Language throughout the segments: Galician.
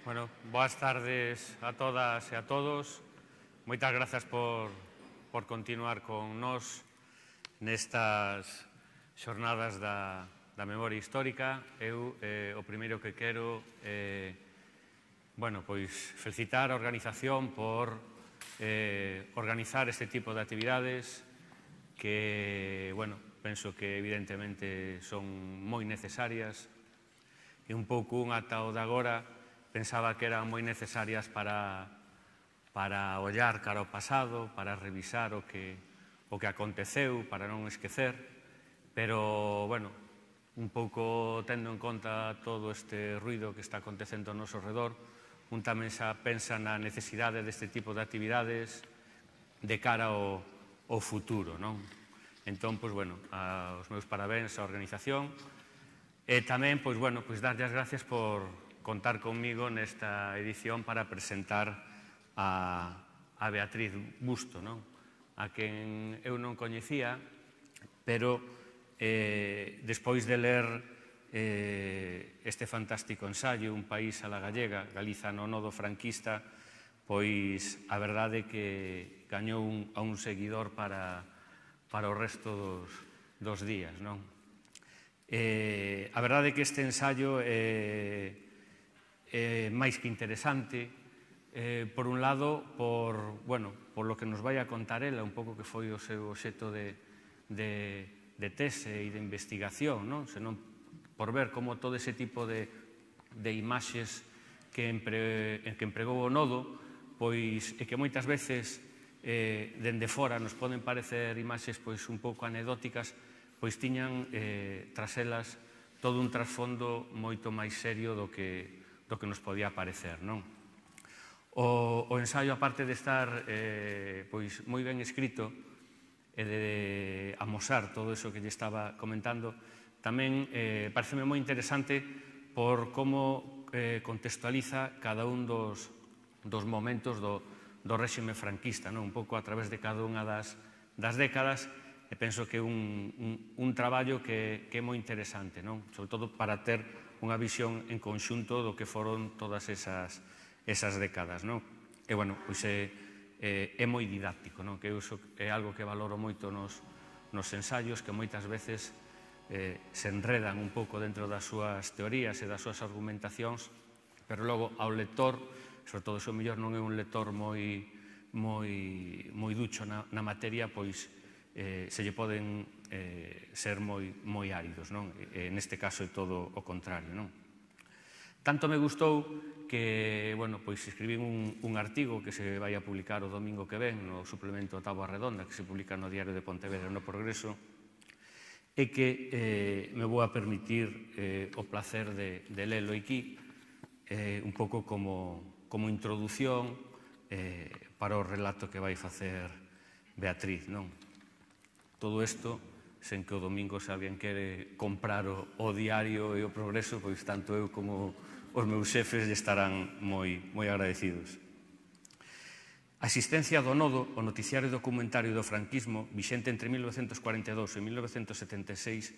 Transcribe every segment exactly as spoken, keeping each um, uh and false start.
Bueno, boas tardes a todas e a todos. Moitas grazas por, por continuar con nós nestas xornadas da, da memoria histórica. Eu eh, o primeiro que quero é eh, bueno, pois felicitar a organización por eh, organizar este tipo de actividades que, bueno, penso que evidentemente son moi necesarias e un pouco un ata o de agora pensaba que eran moi necesarias para, para ollar cara ao pasado, para revisar o que, o que aconteceu, para non esquecer, pero, bueno, un pouco tendo en conta todo este ruido que está acontecendo ao noso redor, un tamén xa pensa na necesidade deste tipo de actividades de cara ao, ao futuro, non? Entón, pois, bueno, aos meus parabéns á organización e tamén, pois, bueno, pois darlle as gracias por contar conmigo nesta edición para presentar a, a Beatriz Busto, non? A quen eu non coñecía, pero eh, despois de ler eh, este fantástico ensaio, Un país a la gallega, Galiza no nodo franquista, pois a verdade que gañou un, a un seguidor para, para o resto dos, dos días, non? Eh, a verdade que este ensaio é Eh, máis que interesante, eh, por un lado, por, bueno, por lo que nos vai a contar ela, un pouco que foi o seu obxecto de, de, de tese e de investigación, non? Senón por ver como todo ese tipo de, de imaxes que, empre, que empregou o nodo, pois, e que moitas veces, eh, dende fora, nos poden parecer imaxes pois, un pouco anecdóticas, pois tiñan, eh, tras elas, todo un trasfondo moito máis serio do que do que nos podía parecer, non? O, o ensaio, aparte de estar eh, pois moi ben escrito e de amosar todo eso que lle estaba comentando, tamén eh, pareceme moi interesante por como eh, contextualiza cada un dos, dos momentos do, do réxime franquista, non? Un pouco a través de cada unha das, das décadas, e penso que é un, un, un traballo que, que é moi interesante, non? Sobre todo para ter unha visión en conxunto do que foron todas esas, esas décadas, non? E, bueno, pois é, é, é moi didáctico, non? Que uso, é algo que valoro moito nos, nos ensaios, que moitas veces eh, se enredan un pouco dentro das súas teorías e das súas argumentacións, pero logo ao lector, sobre todo se o mellor non é un lector moi, moi, moi ducho na, na materia, pois eh, se lle poden eh, ser moi, moi áridos, non? E, neste caso é todo o contrario, non? Tanto me gustou que, bueno, pois escribín un, un artigo que se vai a publicar o domingo que ven no suplemento Táboa Redonda, que se publica no Diario de Pontevedra no Progreso, e que eh, me vou a permitir eh, o placer de, de lelo aquí, eh, un pouco como, como introdución eh, para o relato que vai facer Beatriz, non? Todo isto, sen que o domingo se alguén quere comprar o, o diario e o Progreso, pois tanto eu como os meus xefes lle estarán moi, moi agradecidos. A existencia do nodo, o noticiario documentario do franquismo, vixente entre mil novecentos cuarenta e dous e mil novecentos setenta e seis,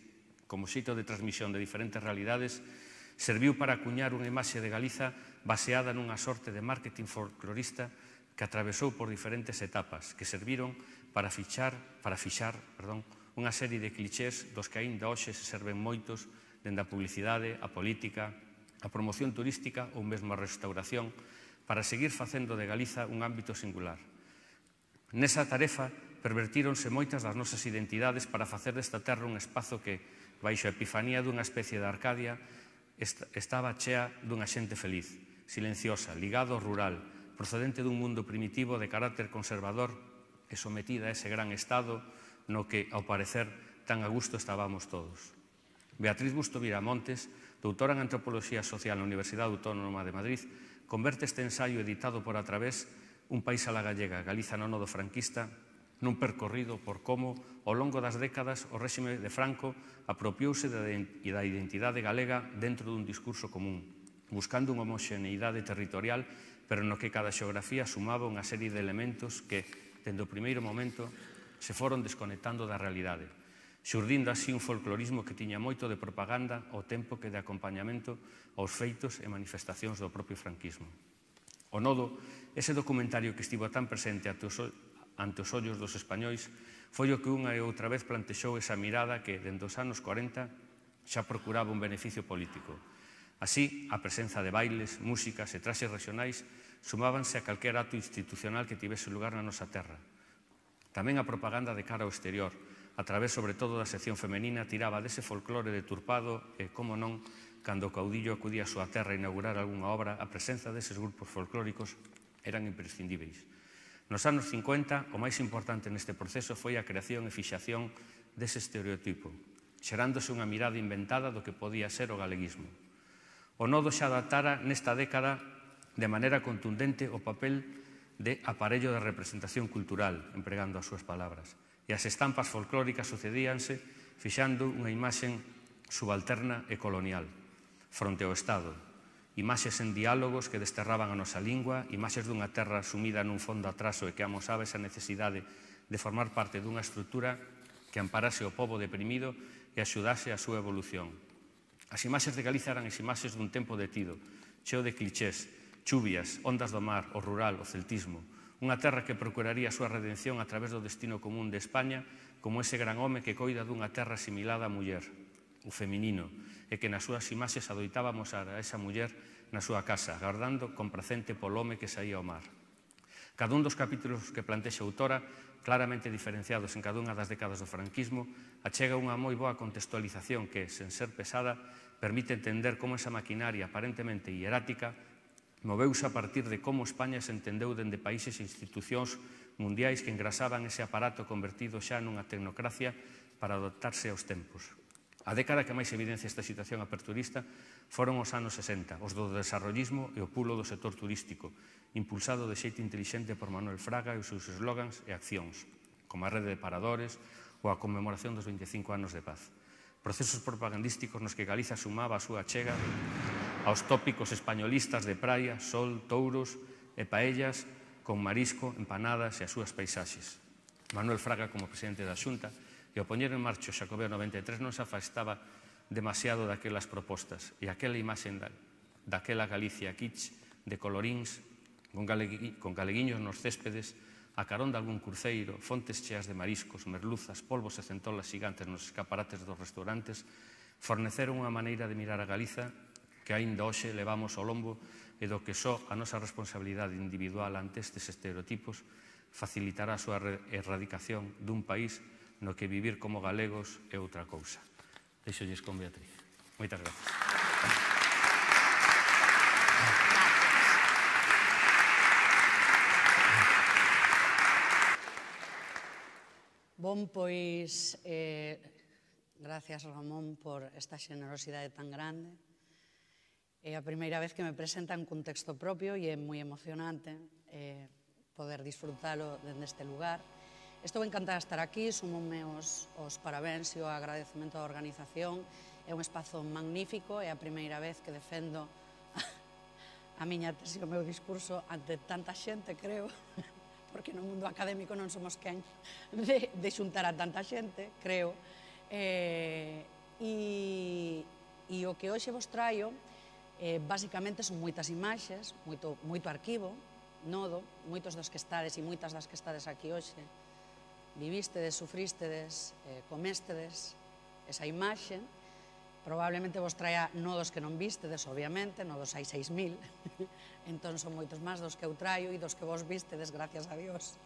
como xeito de transmisión de diferentes realidades, serviu para acuñar unha imaxe de Galiza baseada nunha sorte de marketing folclorista que atravesou por diferentes etapas, que serviron para fichar, para fixar, perdón, unha serie de clichés dos que aínda hoxe se serven moitos dende a publicidade, a política, a promoción turística ou mesmo a restauración, para seguir facendo de Galiza un ámbito singular. Nesa tarefa pervertíronse moitas das nosas identidades para facer desta terra un espazo que, baixo a epifanía dunha especie de Arcadia, estaba chea dunha xente feliz, silenciosa, ligado ao rural, procedente dun mundo primitivo de carácter conservador e sometida a ese gran estado no que, ao parecer, tan a gusto estábamos todos. Beatriz Busto Viramontes, doutora en Antropoloxía Social na Universidade Autónoma de Madrid, converte este ensaio editado por A Través, Un país a la gallega, Galiza no nodo franquista, nun percorrido por como, ao longo das décadas, o réxime de Franco apropiouse da identidade galega dentro dun discurso común, buscando unha homoxeneidade territorial, pero no que cada xeografía sumaba unha serie de elementos que, dende o primeiro momento, se foron desconectando da realidade. xurdindo así un folclorismo que tiña moito de propaganda ao tempo que de acompañamento aos feitos e manifestacións do propio franquismo. O Nodo, ese documentario que estivo tan presente ante os ollos dos españois, foi o que unha e outra vez plantexou esa mirada que, dende os anos corenta, xa procuraba un beneficio político. Así, a presenza de bailes, músicas e traxes regionais sumábanse a calquer acto institucional que tivese lugar na nosa terra. Tamén a propaganda de cara ao exterior, a través sobre todo da sección femenina, tiraba dese folclore deturpado e, como non, cando o caudillo acudía á súa terra a inaugurar algunha obra, a presenza deses grupos folclóricos eran imprescindíveis. Nos anos cincuenta, o máis importante neste proceso foi a creación e fixación dese estereotipo, xerándose unha mirada inventada do que podía ser o galeguismo. O Nodo xa adaptara nesta década de maneira contundente o papel de aparello de representación cultural, empregando as súas palabras, e as estampas folclóricas sucedíanse fixando unha imaxe subalterna e colonial, fronte ao Estado, imaxes en diálogos que desterraban a nosa lingua, imaxes dunha terra sumida nun fondo atraso e que amosaba esa necesidade de formar parte dunha estrutura que amparase o pobo deprimido e axudase a súa evolución. As imaxes de Galiza eran as imaxes dun tempo detido, cheo de clichés, chuvias, ondas do mar, o rural, o celtismo, unha terra que procuraría a súa redención a través do destino común de España como ese gran home que coida dunha terra asimilada á muller, o feminino, e que nas súas imaxes adoitábamos a esa muller na súa casa, agardando complacente polo home que saía ao mar. Cada un dos capítulos que plantexa a autora, claramente diferenciados en cada unha das décadas do franquismo, achega unha moi boa contextualización que, sen ser pesada, permite entender como esa maquinaria aparentemente hierática moveuse a partir de como España se entendeu dende países e institucións mundiais que engrasaban ese aparato convertido xa nunha tecnocracia para adaptarse aos tempos. A década que máis evidencia esta situación aperturista foron os anos sesenta, os do desarrollismo e o pulo do sector turístico, impulsado de xeito intelixente por Manuel Fraga e os seus eslogans e accións, como a rede de paradores ou a conmemoración dos veinticinco anos de paz. Procesos propagandísticos nos que Galiza sumaba a súa chega aos tópicos españolistas de praia, sol, touros e paellas con marisco, empanadas e as súas paisaxes. Manuel Fraga, como presidente da Xunta, e ao poñer en marcha o Xacobeo noventa e tres non se afastaba demasiado daquelas propostas e aquela imaxe daquela Galicia kitsch de coloríns con galeguiños nos céspedes, a carón de algún cruceiro, fontes cheas de mariscos, merluzas, polvos e centolas xigantes nos escaparates dos restaurantes, forneceron unha maneira de mirar a Galiza que aínda hoxe levamos ao lombo e do que só a nosa responsabilidade individual ante estes estereotipos facilitará a súa erradicación dun país no que vivir como galegos é outra cousa. Deixolles con Beatriz. Moitas gracias. Bon, pois, eh, gracias, Ramón, por esta xenerosidade tan grande. É a primeira vez que me presenta en contexto propio e é moi emocionante eh, poder disfrutalo dende este lugar. Estou encantada de estar aquí, sumome os, os parabéns e o agradecemento da organización. É un espazo magnífico, é a primeira vez que defendo a miña tese e o meu discurso ante tanta xente, creo, porque no mundo académico non somos quen de, de xuntar a tanta xente, creo. Eh, e, e o que hoxe vos traio, eh, basicamente son moitas imaxes, moito, moito arquivo, Nodo, moitos dos que estades e moitas das que estades aquí hoxe, vivístedes, sufrístedes, eh, coméstedes esa imaxe. Probablemente vos traia nodos que non vístedes, obviamente, nodos hai seis mil, entón son moitos máis dos que eu traio e dos que vos vístedes, gracias a Dios.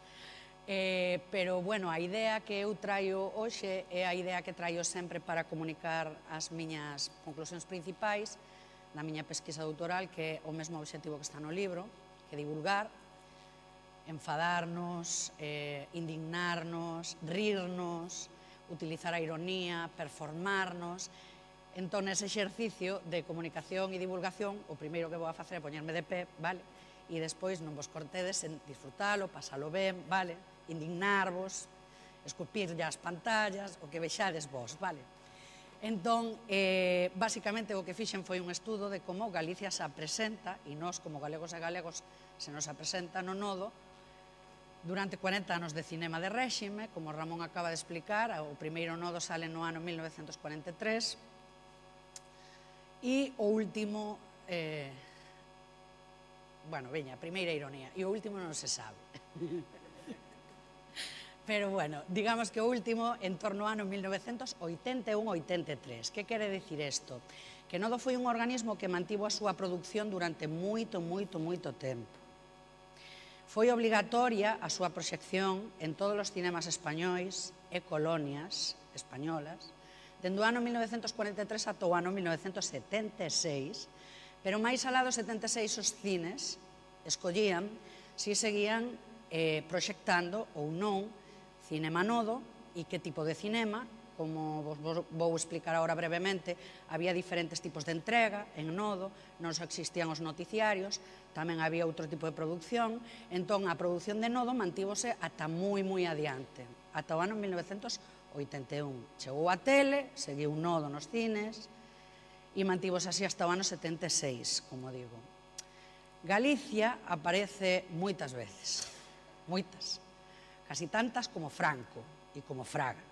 Eh, pero, bueno, a idea que eu traio hoxe é a idea que traio sempre para comunicar as miñas conclusións principais da miña pesquisa doutoral, que é o mesmo obxectivo que está no libro, que divulgar, enfadarnos, eh, indignarnos, rirnos, utilizar a ironía, performarnos. Entón, ese exercicio de comunicación e divulgación, o primeiro que vou a facer é poñerme de pé, vale? E despois non vos cortedes en disfrutalo, pasalo ben, vale? Indignarvos, escupir as pantallas, o que vexades vos, vale? Entón, eh, basicamente, o que fixen foi un estudo de como Galicia se apresenta, e nós, como galegos e galegos, se nos apresenta no Nodo, durante cuarenta anos de cinema de réxime, como Ramón acaba de explicar, o primeiro nodo sale no ano mil novecentos cuarenta e tres, e o último, eh, bueno, veña, a primeira ironía, e o último non se sabe. Pero, bueno, digamos que o último en torno ao ano mil novecentos oitenta e un a oitenta e tres. Que quere dicir isto? Que Nodo foi un organismo que mantivo a súa produción durante moito, moito, moito tempo. Foi obligatoria a súa proxección en todos os cinemas españois e colonias españolas dende o ano mil novecentos cuarenta e tres ata o ano mil novecentos setenta e seis, pero máis alá do setenta e seis os cines escollían se seguían eh, proxectando ou non cinema Nodo e que tipo de cinema. Como vos vou explicar agora brevemente, había diferentes tipos de entrega en Nodo, non só existían os noticiarios, tamén había outro tipo de produción. Entón, a produción de Nodo mantívose ata moi, moi adiante, ata o ano mil novecentos oitenta e un. Chegou a tele, seguiu Nodo nos cines e mantívose así hasta o ano setenta e seis, como digo. Galicia aparece moitas veces, moitas, casi tantas como Franco e como Fraga.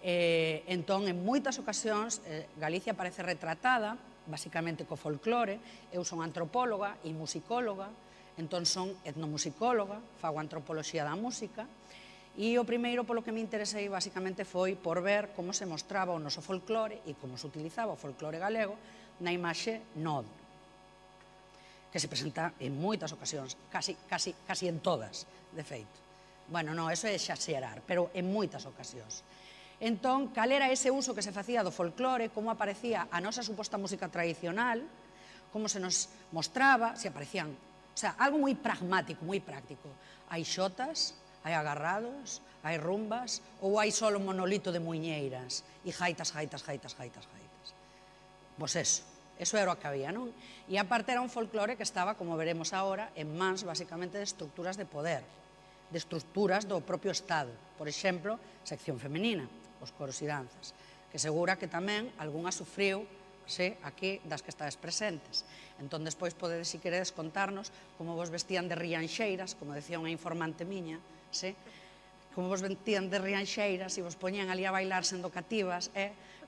Eh, entón, en moitas ocasións, eh, Galicia aparece retratada, basicamente co folclore. Eu son antropóloga e musicóloga, entón son etnomusicóloga, fago antropoloxía da música, e o primeiro polo que me interesei basicamente foi por ver como se mostraba o noso folclore e como se utilizaba o folclore galego na imaxe Nodo, que se presenta en moitas ocasións, casi, casi, casi en todas, de feito. Bueno, non, eso é exaxerar, pero en moitas ocasións. Entón, cal era ese uso que se facía do folclore, como aparecía a nosa suposta música tradicional, como se nos mostraba, se aparecían, o sea, algo moi pragmático, moi práctico. Hai xotas, hai agarrados, hai rumbas, ou hai solo un monolito de muiñeiras, e jaitas, jaitas, jaitas, jaitas, jaitas. Pois eso, eso era o que había, non? E aparte era un folclore que estaba, como veremos agora, en mans, basicamente, de estructuras de poder, de estructuras do propio Estado. Por exemplo, sección femenina, os coros e danzas, que segura que tamén algunha sufriu aquí das que estades presentes. Entón, despois podedes, se queredes, contarnos como vos vestían de rianxeiras, como decía unha informante miña, como vos vestían de rianxeiras e vos poñían ali a bailar sendo cativas,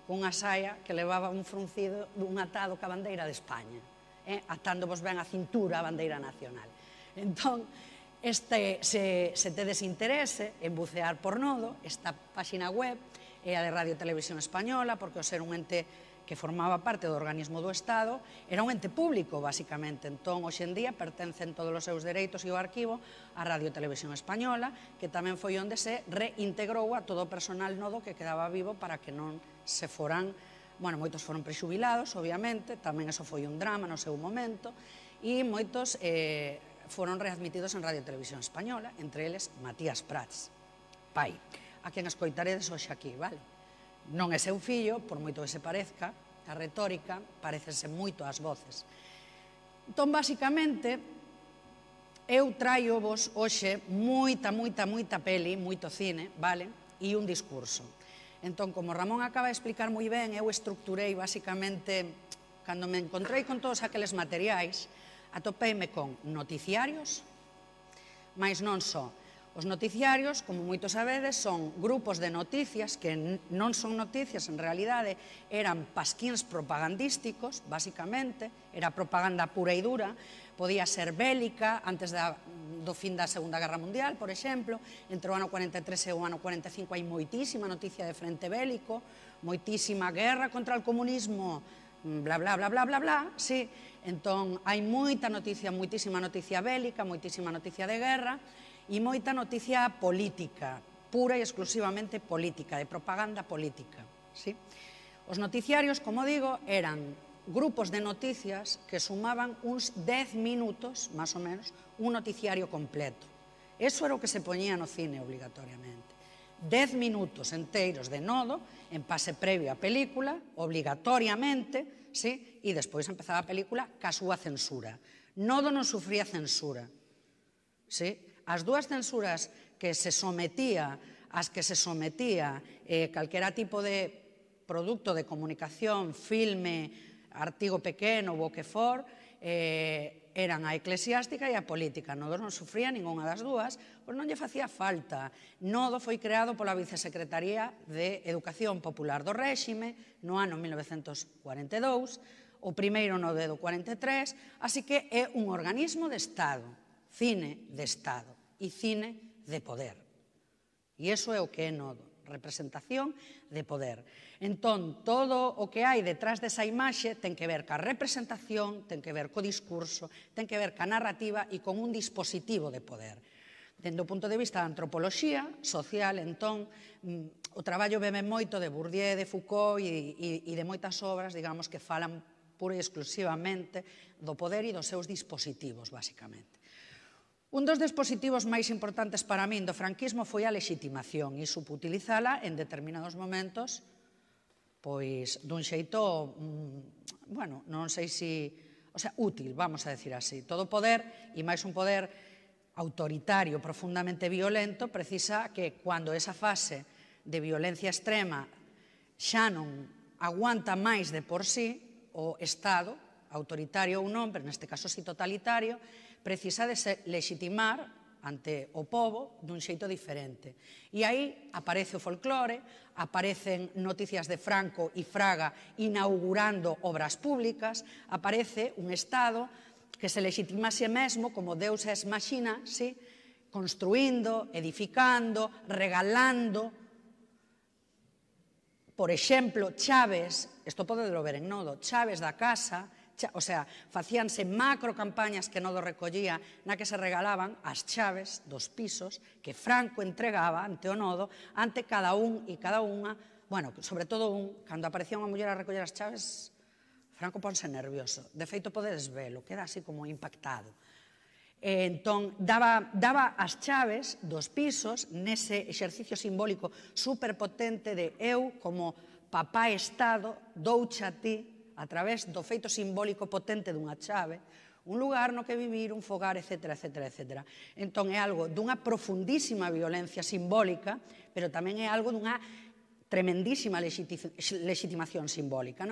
cunha saia que levaba un fruncido, un atado ca bandeira de España, atándovos ben a cintura a bandeira nacional. Entón, Este, se, se tedes interese en bucear por Nodo, esta páxina web é a de Radio Televisión Española, porque ao ser un ente que formaba parte do organismo do Estado, era un ente público, basicamente. Entón, hoxe en día, pertencen todos os seus dereitos e o arquivo a Radio Televisión Española, que tamén foi onde se reintegrou a todo o personal Nodo que quedaba vivo para que non se foran, bueno, moitos foron prexubilados, obviamente, tamén eso foi un drama no seu momento, e moitos eh, foron readmitidos en Radio Televisión Española, entre eles Matías Prats, pai, a quen escoitaredes hoxe aquí, vale? Non é seu fillo, por moito que se parezca, a retórica parecense moito ás voces. Entón, basicamente, eu traio vos hoxe moita, moita, moita peli, moito cine, vale? E un discurso. Entón, como Ramón acaba de explicar moi ben, eu estructurei, basicamente, cando me encontrei con todos aqueles materiais, atopeime con noticiarios, mas non só. Os noticiarios, como moitos sabedes, son grupos de noticias que non son noticias, en realidade eran pasquíns propagandísticos, basicamente, era propaganda pura e dura, podía ser bélica, antes do fin da Segunda Guerra Mundial, por exemplo, entre o ano cuarenta e tres e o ano cuarenta e cinco hai moitísima noticia de frente bélico, moitísima guerra contra o comunismo, bla, bla, bla, bla, bla, bla, sí. Entón, hai moita noticia, moitísima noticia bélica, moitísima noticia de guerra e moita noticia política, pura e exclusivamente política, de propaganda política, sí. Os noticiarios, como digo, eran grupos de noticias que sumaban uns dez minutos, máis ou menos, un noticiario completo. Eso era o que se poñía no cine obligatoriamente. Dez minutos enteiros de Nodo, en pase previo á película, obligatoriamente, sí, e despois empezaba a película ca súa censura. Nodo non sufría censura, sí. As dúas censuras que se sometía, as que se sometía eh, calquera tipo de producto de comunicación, filme, artigo pequeno ou o que for, eh, eran a eclesiástica e a política. Nodo non sufría ninguna das dúas, pois non lle facía falta. Nodo foi creado pola Vicesecretaría de Educación Popular do Réxime no ano mil novecentos cuarenta e dous, o primeiro no do cuarenta e tres, así que é un organismo de Estado, cine de Estado e cine de poder. E iso é o que é Nodo, representación de poder. Entón, todo o que hai detrás desa imaxe ten que ver ca representación, ten que ver co discurso, ten que ver ca narrativa e con un dispositivo de poder. Dende o punto de vista da antropoloxía social, entón, o traballo bebe moito de Bourdieu, de Foucault e de moitas obras, digamos, que falan pura e exclusivamente do poder e dos seus dispositivos, basicamente. Un dos dispositivos máis importantes para min do franquismo foi a lexitimación e supo utilizala en determinados momentos pois dun xeito, bueno, non sei se, o sea, útil, vamos a decir así. Todo poder, e máis un poder autoritario, profundamente violento, precisa que cando esa fase de violencia extrema xa non aguanta máis de por sí, o Estado, autoritario ou non, pero neste caso si totalitario, precisa de se legitimar ante o pobo dun xeito diferente. E aí aparece o folclore, aparecen noticias de Franco e Fraga inaugurando obras públicas, aparece un Estado que se legitima a si mesmo como Deus ex machina, sí? Construindo, edificando, regalando. Por exemplo, chaves, isto podedelo ver en Nodo, chaves da casa, o sea, facíanse macro campañas que Nodo recollía na que se regalaban as chaves dos pisos que Franco entregaba ante o Nodo, ante cada un e cada unha, bueno, sobre todo un, cando aparecía unha muller a recoller as chaves, Franco ponse nervioso. De feito, podedes velo, queda así como impactado. Entón, daba, daba as chaves dos pisos nese exercicio simbólico superpotente de eu, como papá Estado, douche a ti, a través do feito simbólico potente dunha chave, un lugar no que vivir, un fogar, etcétera, etcétera, etcétera. Entón, é algo dunha profundísima violencia simbólica, pero tamén é algo dunha tremendísima legitimación simbólica.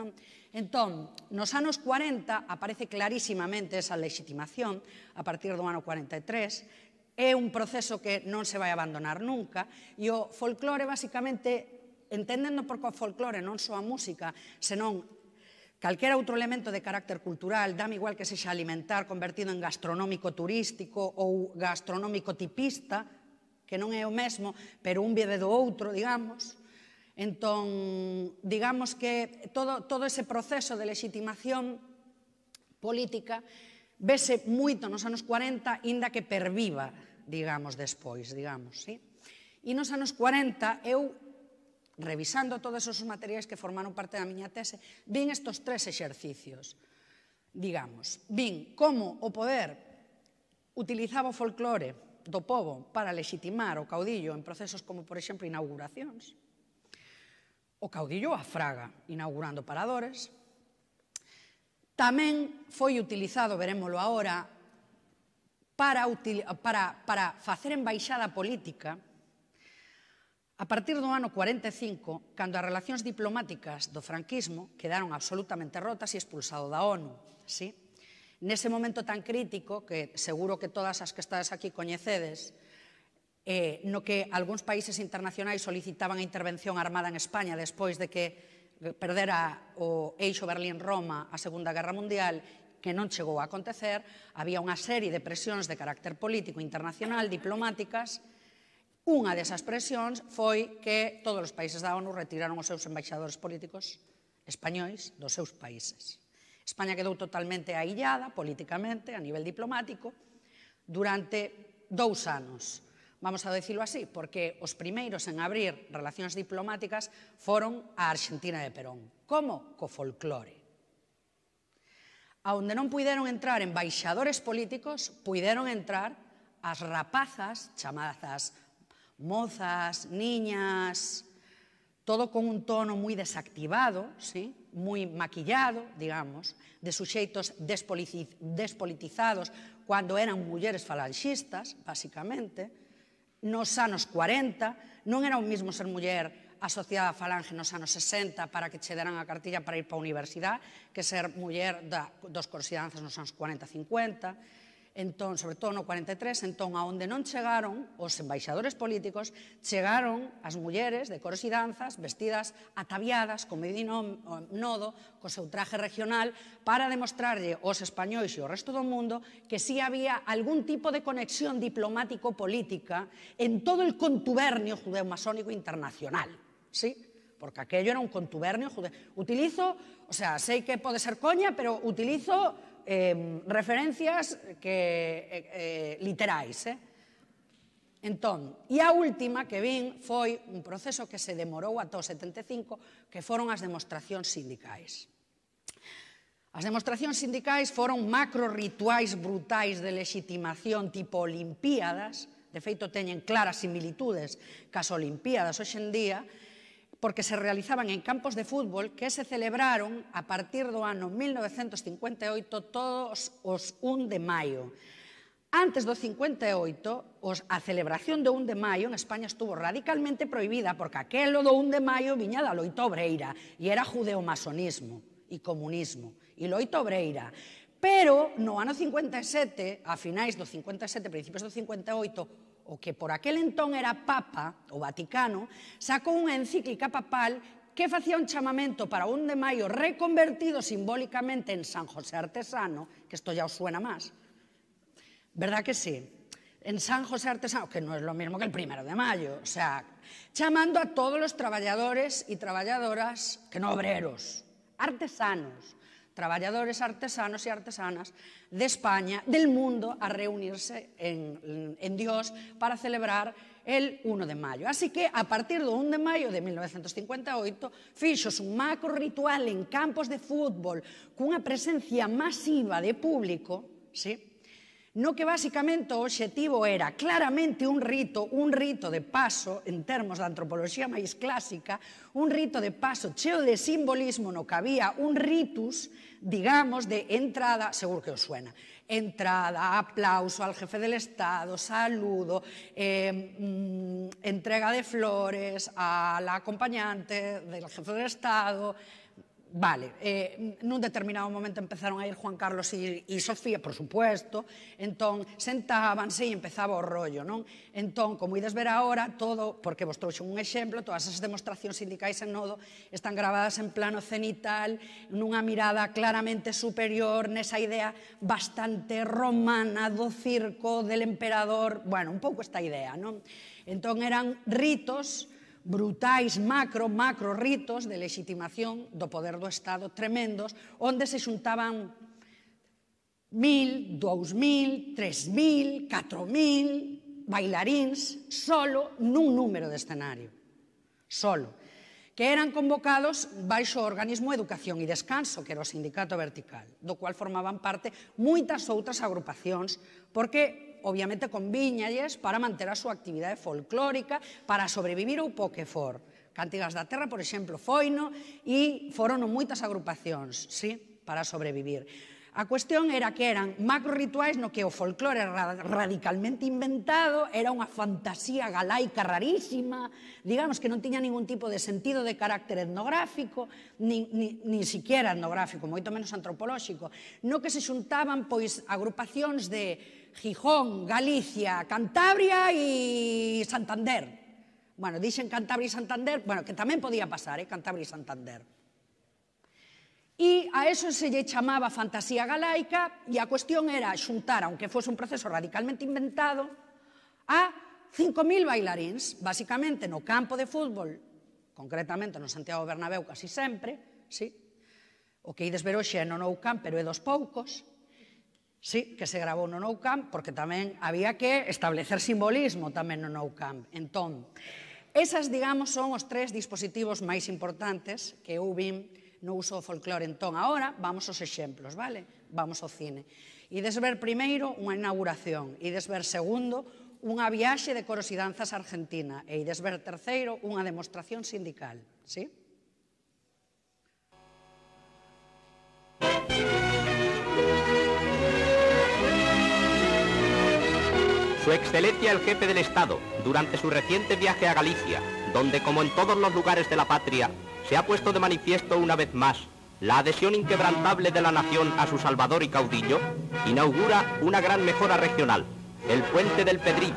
Entón, nos anos cuarenta aparece clarísimamente esa legitimación, a partir do ano cuarenta e tres, é un proceso que non se vai abandonar nunca, e o folclore, basicamente, entendendo por que o folclore non só a música, senón calquera outro elemento de carácter cultural, dame igual que sexa alimentar convertido en gastronómico turístico ou gastronómico tipista, que non é o mesmo, pero un bebe do outro, digamos. Entón, digamos que todo, todo ese proceso de legitimación política vese moito nos anos cuarenta, inda que perviva, digamos, despois, digamos, sí? E nos anos cuarenta, eu, revisando todos esos materiais que formaron parte da miña tese, vin estos tres exercicios, digamos. Vin como o poder utilizaba o folclore do pobo para legitimar o caudillo en procesos como, por exemplo, inauguracións. O caudillo a Fraga, inaugurando paradores. Tamén foi utilizado, verémolo agora, para, para, para facer embaixada política. A partir do ano cuarenta e cinco, cando as relacións diplomáticas do franquismo quedaron absolutamente rotas e expulsado da ONU, sí? Nese momento tan crítico, que seguro que todas as que estades aquí coñecedes, eh, no que algúns países internacionais solicitaban a intervención armada en España despois de que perdera o eixo Berlín-Roma a Segunda Guerra Mundial, que non chegou a acontecer, había unha serie de presións de carácter político internacional, diplomáticas. Unha desas presións foi que todos os países da ONU retiraron os seus embaixadores políticos españois dos seus países. España quedou totalmente aillada políticamente, a nivel diplomático, durante dous anos. Vamos a decirlo así, porque os primeiros en abrir relacións diplomáticas foron a Argentina de Perón. Como? Co folclore. A onde non puideron entrar embaixadores políticos, puideron entrar as rapazas, chamadas mozas, niñas, todo con un tono moi desactivado, ¿sí? Moi maquillado, digamos, de suxeitos despolitizados cando eran mulleres falanxistas, basicamente. Nos anos cuarenta non era o mismo ser muller a sociedade da Falange nos anos sesenta para que che deran a cartilla para ir para a universidade, que ser muller da, dos corosidanzas nos anos cuarenta cincuenta, entón, sobre todo no cuarenta e tres, entón, aonde non chegaron os embaixadores políticos, chegaron as mulleres de coros e danzas vestidas ataviadas, con medino nodo, co seu traje regional, para demostrarlle aos españois e ao resto do mundo que si había algún tipo de conexión diplomático-política en todo el contubernio judeo-masónico internacional, ¿sí? Porque aquello era un contubernio judeo. Utilizo, o sea, sei que pode ser coña, pero utilizo Eh, referencias que, eh, literais. Eh? Entón, e a última que vin foi un proceso que se demorou ata o setenta e cinco, que foron as demostracións sindicais. As demostracións sindicais foron macro rituais brutais de legitimación tipo Olimpíadas, de feito teñen claras similitudes cas Olimpíadas hoxe en día, porque se realizaban en campos de fútbol que se celebraron a partir do ano mil novecentos cincuenta e oito todos os un de maio. Antes do cincuenta e oito, a celebración do un de maio en España estuvo radicalmente prohibida porque aquelo do un de maio viña da loita obreira e era judeo-masonismo e comunismo e loita obreira. Pero no ano cincuenta e sete, a finais do cincuenta e sete, principios do cincuenta e oito, o que por aquel entón era Papa, o Vaticano, sacou unha encíclica papal que facía un chamamento para o un de maio reconvertido simbólicamente en San José Artesano, que isto ya os suena máis, verdad que sí? En San José Artesano, que non é lo mismo que el primero de mayo, o sea, chamando a todos os traballadores e traballadoras, que non obreros, artesanos, traballadores artesanos e artesanas de España, del mundo, a reunirse en, en Dios para celebrar el uno de mayo. Así que, a partir do un de maio de mil novecentos cincuenta e oito, fixos un macro ritual en campos de fútbol cunha presencia masiva de público, sí? No que basicamente o obxectivo era claramente un rito, un rito de paso, en termos da antropoloxía máis clásica, un rito de paso cheo de simbolismo no que había un ritus, digamos, de entrada, seguro que os suena, entrada, aplauso al jefe del Estado, saludo, eh, mmm, entrega de flores a la acompañante del jefe del Estado. Vale, eh, nun determinado momento empezaron a ir Juan Carlos e, e Sofía, por supuesto, entón sentábanse e empezaba o rollo, non? Entón, como ides ver agora, todo, porque vos trouxen un exemplo, todas as demostracións sindicais en Nodo están gravadas en plano cenital, nunha mirada claramente superior, nesa idea bastante romana do circo, del emperador, bueno, un pouco esta idea, non? Entón eran ritos brutais macro, macro ritos de legitimación do poder do Estado tremendos, onde se xuntaban mil, dous mil, tres mil, catro mil bailaríns solo nun número de escenario. Solo. Que eran convocados baixo o organismo Educación e Descanso, que era o sindicato vertical, do cual formaban parte moitas outras agrupacións, porque obviamente convíñalles para manter a súa actividade folclórica, para sobrevivir ou po que for. Cántigas da Terra, por exemplo, foino, e foron moitas agrupacións, sí, para sobrevivir. A cuestión era que eran macro rituais no que o folclore era radicalmente inventado, era unha fantasía galaica rarísima, digamos que non tiña ningún tipo de sentido de carácter etnográfico, ni, ni, ni siquiera etnográfico, moito menos antropolóxico, no que se xuntaban pois agrupacións de Gijón, Galicia, Cantabria e Santander. Bueno, dixen Cantabria e Santander, bueno, que tamén podía pasar, eh, Cantabria e Santander. E a eso se lle chamaba fantasía galaica e a cuestión era xuntar, aunque fose un proceso radicalmente inventado, a cinco mil bailaríns, basicamente no campo de fútbol, concretamente no Santiago Bernabéu casi sempre, sí, o que ides ver hoxe é no Nou Camp, pero é dos poucos, sí, que se gravou no Nou Camp, porque tamén había que establecer simbolismo tamén no Nou Camp. Entón, esas, digamos, son os tres dispositivos máis importantes que eu vin no uso do folclore. Entón, agora, vamos aos exemplos, vale? Vamos ao cine. Ides ver primeiro unha inauguración, ides ver segundo unha viaxe de coros e danzas a Argentina, e ides ver terceiro unha demostración sindical, sí? Su Excelencia el Jefe del Estado, durante su reciente viaje a Galicia, donde, como en todos los lugares de la patria, se ha puesto de manifiesto una vez más la adhesión inquebrantable de la nación a su salvador y caudillo, inaugura una gran mejora regional, el Puente del Pedrido.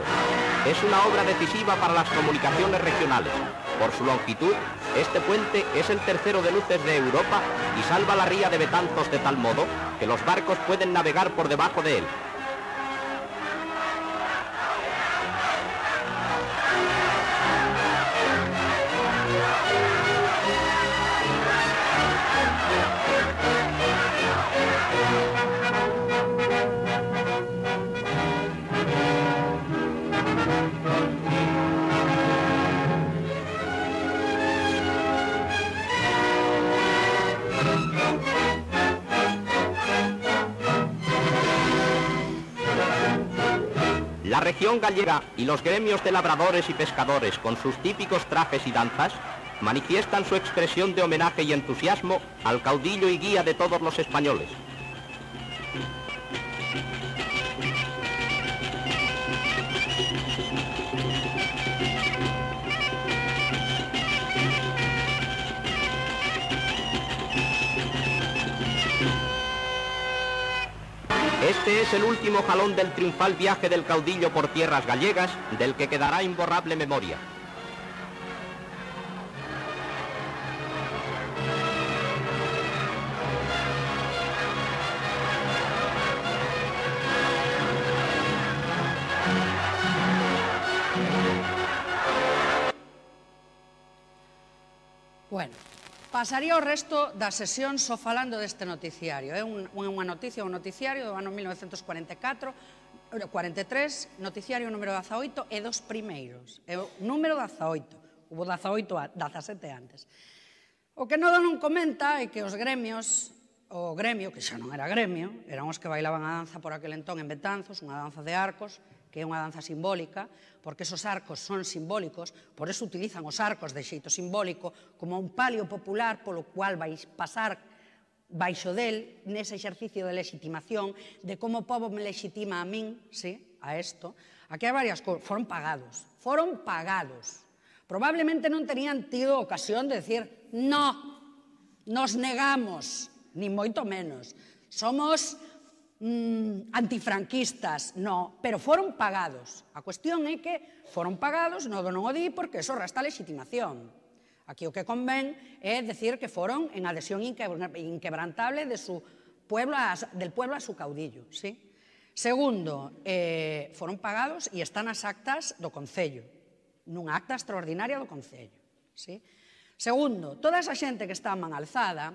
Es una obra decisiva para las comunicaciones regionales. Por su longitud, este puente es el tercero de luces de Europa y salva la ría de Betanzos de tal modo que los barcos pueden navegar por debajo de él. La región gallega y los gremios de labradores y pescadores, con sus típicos trajes y danzas, manifiestan su expresión de homenaje y entusiasmo al caudillo y guía de todos los españoles. Este es el último jalón del triunfal viaje del caudillo por tierras gallegas, del que quedará imborrable memoria. Bueno, pasaría o resto da sesión só falando deste noticiario. É un, unha noticia, un noticiario do ano mil novecentos cuarenta e catro, cuarenta e tres, noticiario número dezaoito e dos primeiros. É o número dezaoito. Hubo dezaoito, dezasete antes. O que non non comenta é que os gremios, o gremio, que xa non era gremio, eran os que bailaban a danza por aquel entón en Betanzos, unha danza de arcos, que é unha danza simbólica, porque esos arcos son simbólicos, por eso utilizan os arcos de xeito simbólico como un palio popular polo cual vais pasar baixo del nese exercicio de legitimación de como o povo me legitima a min, sí, a isto. Aquí hai varias cousas, foron pagados, foron pagados. Probablemente non tenían tido ocasión de decir, no, nos negamos, ni moito menos, somos Mm, antifranquistas, no, pero foron pagados. A cuestión é que foron pagados, non non o di, porque eso resta legitimación. Aquí o que convén é decir que foron en adhesión inquebrantable de su pueblo a, del pueblo a su caudillo, ¿sí? Segundo, eh, foron pagados e están as actas do Concello, nunha acta extraordinaria do Concello, ¿sí? Segundo, toda esa xente que está en man alzada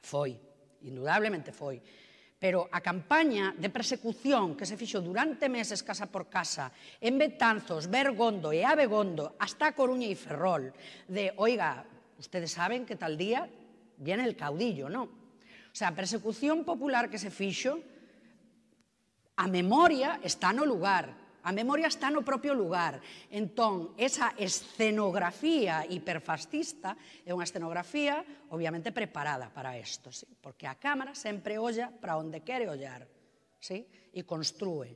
foi, indudablemente foi, pero a campaña de persecución que se fixo durante meses casa por casa en Betanzos, Bergondo e Abegondo hasta Coruña e Ferrol de, oiga, ustedes saben que tal día viene el caudillo, ¿no? O sea, a persecución popular que se fixo, a memoria está no lugar, a memoria está no propio lugar. Entón, esa escenografía hiperfascista é unha escenografía, obviamente, preparada para isto, ¿sí? Porque a cámara sempre olla para onde quere ollar, ¿sí? E construe.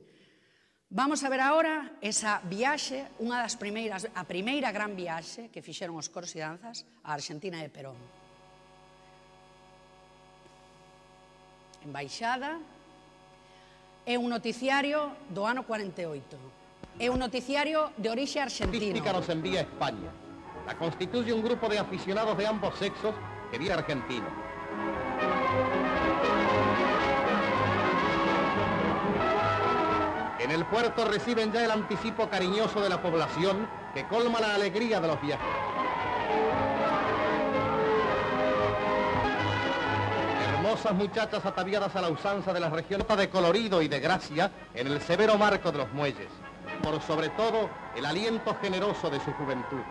Vamos a ver agora esa viaxe, unha das primeiras, a primeira gran viaxe que fixeron os coros e danzas a Argentina de Perón. Embaixada. É un noticiario do ano cuarenta e oito. É un noticiario de orixe argentino. La nos envía a España. La constituye un grupo de aficionados de ambos sexos que viene argentino. En el puerto reciben ya el anticipo cariñoso de la población que colma la alegría de los viajeros. Hermosas muchachas ataviadas a la usanza de las regiones de colorido y de gracia en el severo marco de los muelles. Por sobre todo, el aliento generoso de su juventud.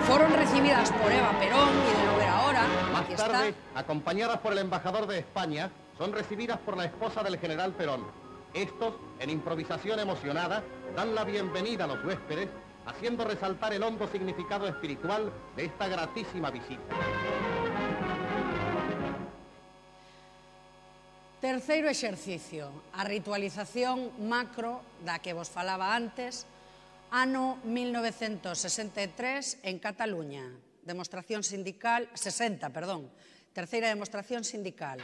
Fueron recibidas por Eva Perón y de lo ver ahora. Más tarde, acompañadas por el embajador de España, son recibidas por la esposa del general Perón. Estos, en improvisación emocionada, dan la bienvenida a los huéspedes, haciendo resaltar el hondo significado espiritual de esta gratísima visita. Terceiro exercicio, a ritualización macro da que vos falaba antes, Ano mil novecientos sesenta e tres en Cataluña. Demostración sindical, sesenta, perdón. Terceira demostración sindical.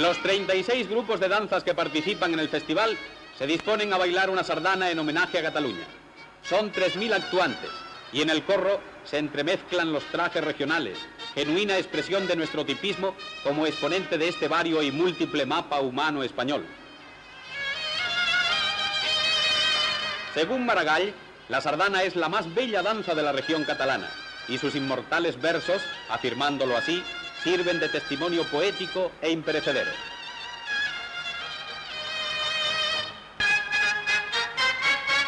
Los treinta y seis grupos de danzas que participan en el festival se disponen a bailar una sardana en homenaje a Cataluña. Son tres mil actuantes y en el corro se entremezclan los trajes regionales, genuina expresión de nuestro tipismo como exponente de este vario y múltiple mapa humano español. Según Maragall, la sardana es la más bella danza de la región catalana y sus inmortales versos, afirmándolo así, sirven de testimonio poético e imperecedero.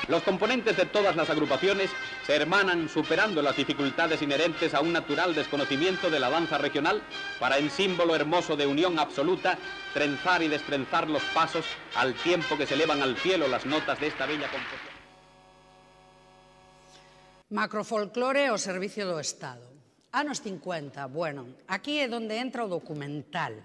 Los componentes de todas las agrupaciones se hermanan superando las dificultades inherentes a un natural desconocimiento de la danza regional para, en símbolo hermoso de unión absoluta, trenzar y destrenzar los pasos al tiempo que se elevan al cielo las notas de esta bella composición. Macrofolclore ao servicio do Estado. Anos cincuenta, bueno, aquí é onde entra o documental.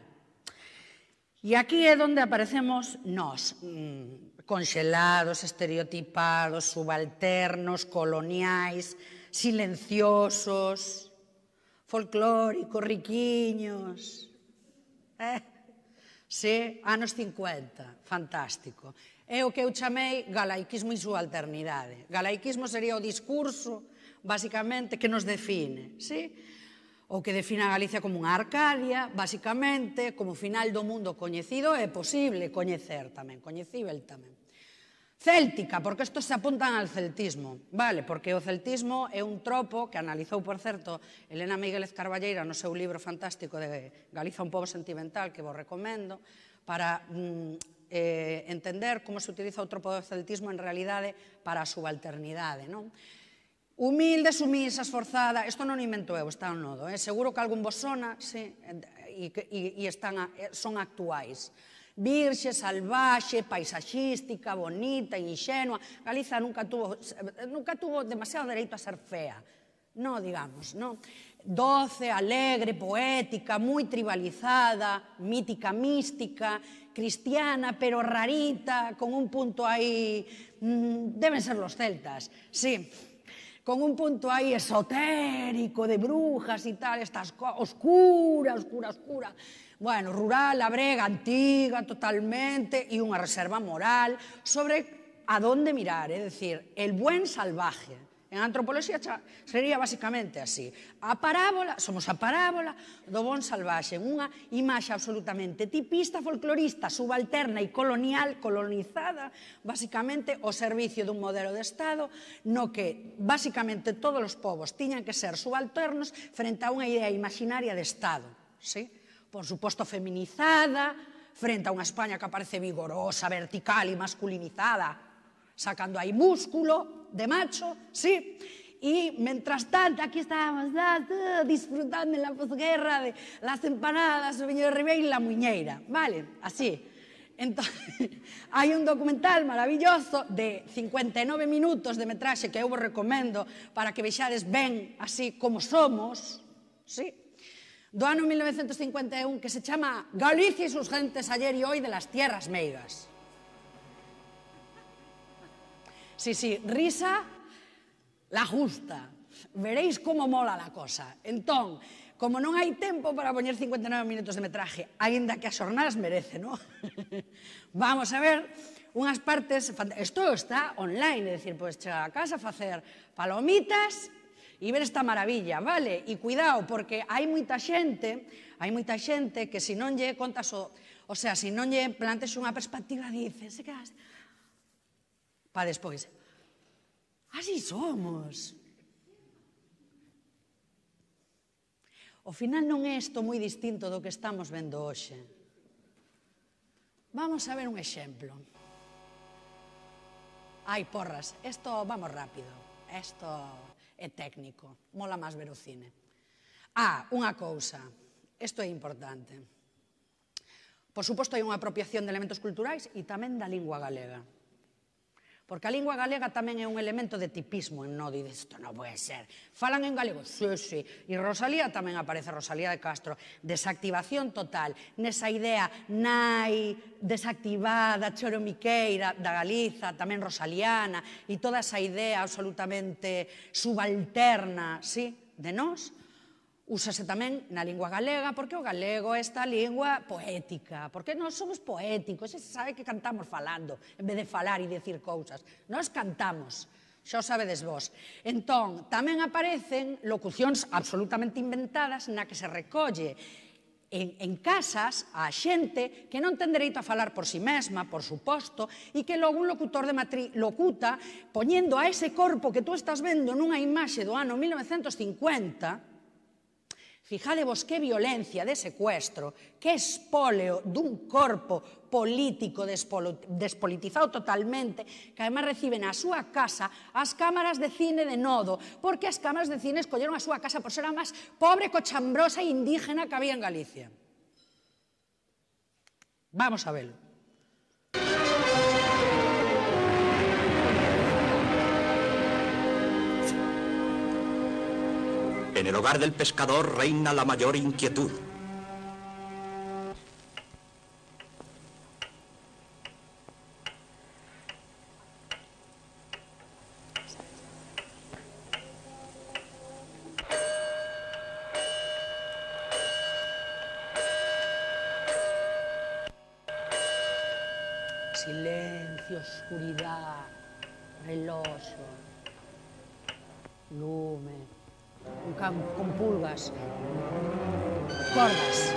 E aquí é onde aparecemos nós, mmm, conxelados, estereotipados, subalternos, coloniais, silenciosos, folclóricos, riquiños. Eh? Sí, anos cincuenta, fantástico. É o que eu chamei galaiquismo e subalternidade. Galaiquismo sería o discurso, basicamente, que nos define, sí? O que define a Galicia como unha Arcadia, basicamente, como final do mundo coñecido, é posible coñecer tamén, coñecível tamén. Céltica, porque estos se apuntan al celtismo, vale, porque o celtismo é un tropo que analizou, por certo, Elena Míguez Carballeira no seu libro fantástico de Galiza un pobo sentimental, que vos recomendo, para mm, eh, entender como se utiliza o tropo do celtismo en realidade para a subalternidade, non? Humilde, sumisa, esforzada, isto non invento eu, está un nodo, eh? Seguro que algún vos sona, sí, e, e, e están a, son actuais. Virxe, salvaxe, paisaxística, bonita, inxenua. Galiza nunca tuvo, nunca tuvo demasiado dereito a ser fea, no, digamos, no? Doce, alegre, poética, moi tribalizada, mítica, mística, cristiana, pero rarita, con un punto aí, mmm, deben ser los celtas, sí, con un punto aí esotérico, de brujas e tal, estas cosas, oscura, oscura, oscura. Bueno, rural, labrega, antiga, totalmente, e unha reserva moral sobre a donde mirar, é dicir, el buen salvaje. En antropoloxía sería basicamente así. A parábola, somos a parábola do bon salvaxe, unha imaxe absolutamente tipista, folclorista, subalterna e colonial, colonizada, basicamente ao servicio dun modelo de Estado no que, basicamente, todos os povos tiñan que ser subalternos frente a unha idea imaginaria de Estado, sí? Por suposto feminizada, frente a unha España que aparece vigorosa, vertical e masculinizada, sacando aí músculo de macho, sí? E, mentras tanto, aquí estábamos disfrutando en la posguerra de las empanadas, o viño de Ribeira e la muñeira, vale? Así. Entón, hai un documental maravilloso de cincuenta e nove minutos de metraxe que eu vos recomendo para que vexades ben así como somos, sí? Do ano mil novecientos cincuenta e un, que se chama Galicia e sus gentes ayer y hoy de las tierras meigas. Sí, sí, risa la justa. Veréis como mola la cosa. Entón, como non hai tempo para poñer cincuenta e nove minutos de metraje, aínda que as xornadas merece, non? Vamos a ver unhas partes... Isto está online, é dicir, podes chegar a casa, facer palomitas e ver esta maravilla, vale? E cuidado, porque hai moita xente, hai moita xente que se non lle contas o... O sea, se non lle plantes unha perspectiva, dice, se quedas... Pa despois, así somos. Ao final non é isto moi distinto do que estamos vendo hoxe. Vamos a ver un exemplo. Ai, porras, isto vamos rápido. Isto... é técnico, mola máis ver o cine. Ah, unha cousa, isto é importante. Por suposto, hai unha apropiación de elementos culturais e tamén da lingua galega. Porque a lingua galega tamén é un elemento de tipismo en Nodi, e isto non pode ser. Falan en galego? Sí, sí. E Rosalía tamén aparece, Rosalía de Castro. Desactivación total. Nesa idea nai, desactivada, choromiqueira da Galiza, tamén rosaliana, e toda esa idea absolutamente subalterna, sí, de nós, úsase tamén na lingua galega, porque o galego é esta lingua poética, porque nós somos poéticos, e se sabe que cantamos falando, en vez de falar e dicir cousas. Nós cantamos, xa o sabedes vos. Entón, tamén aparecen locucións absolutamente inventadas na que se recolle en, en casas a xente que non ten dereito a falar por si mesma, por suposto, e que logo un locutor de matriz locuta poñendo a ese corpo que tú estás vendo nunha imaxe do ano mil novecentos cincuenta. Fijadevos que violencia de secuestro, que espóleo dun corpo político despolitizado totalmente, que además reciben a súa casa as cámaras de cine de Nodo, porque as cámaras de cine escolleron a súa casa por ser a máis pobre, cochambrosa e indígena que había en Galicia. Vamos a velo. En el hogar del pescador reina la mayor inquietud. Silencio, oscuridad, reloxo, lume, un can con pulgas, cordas,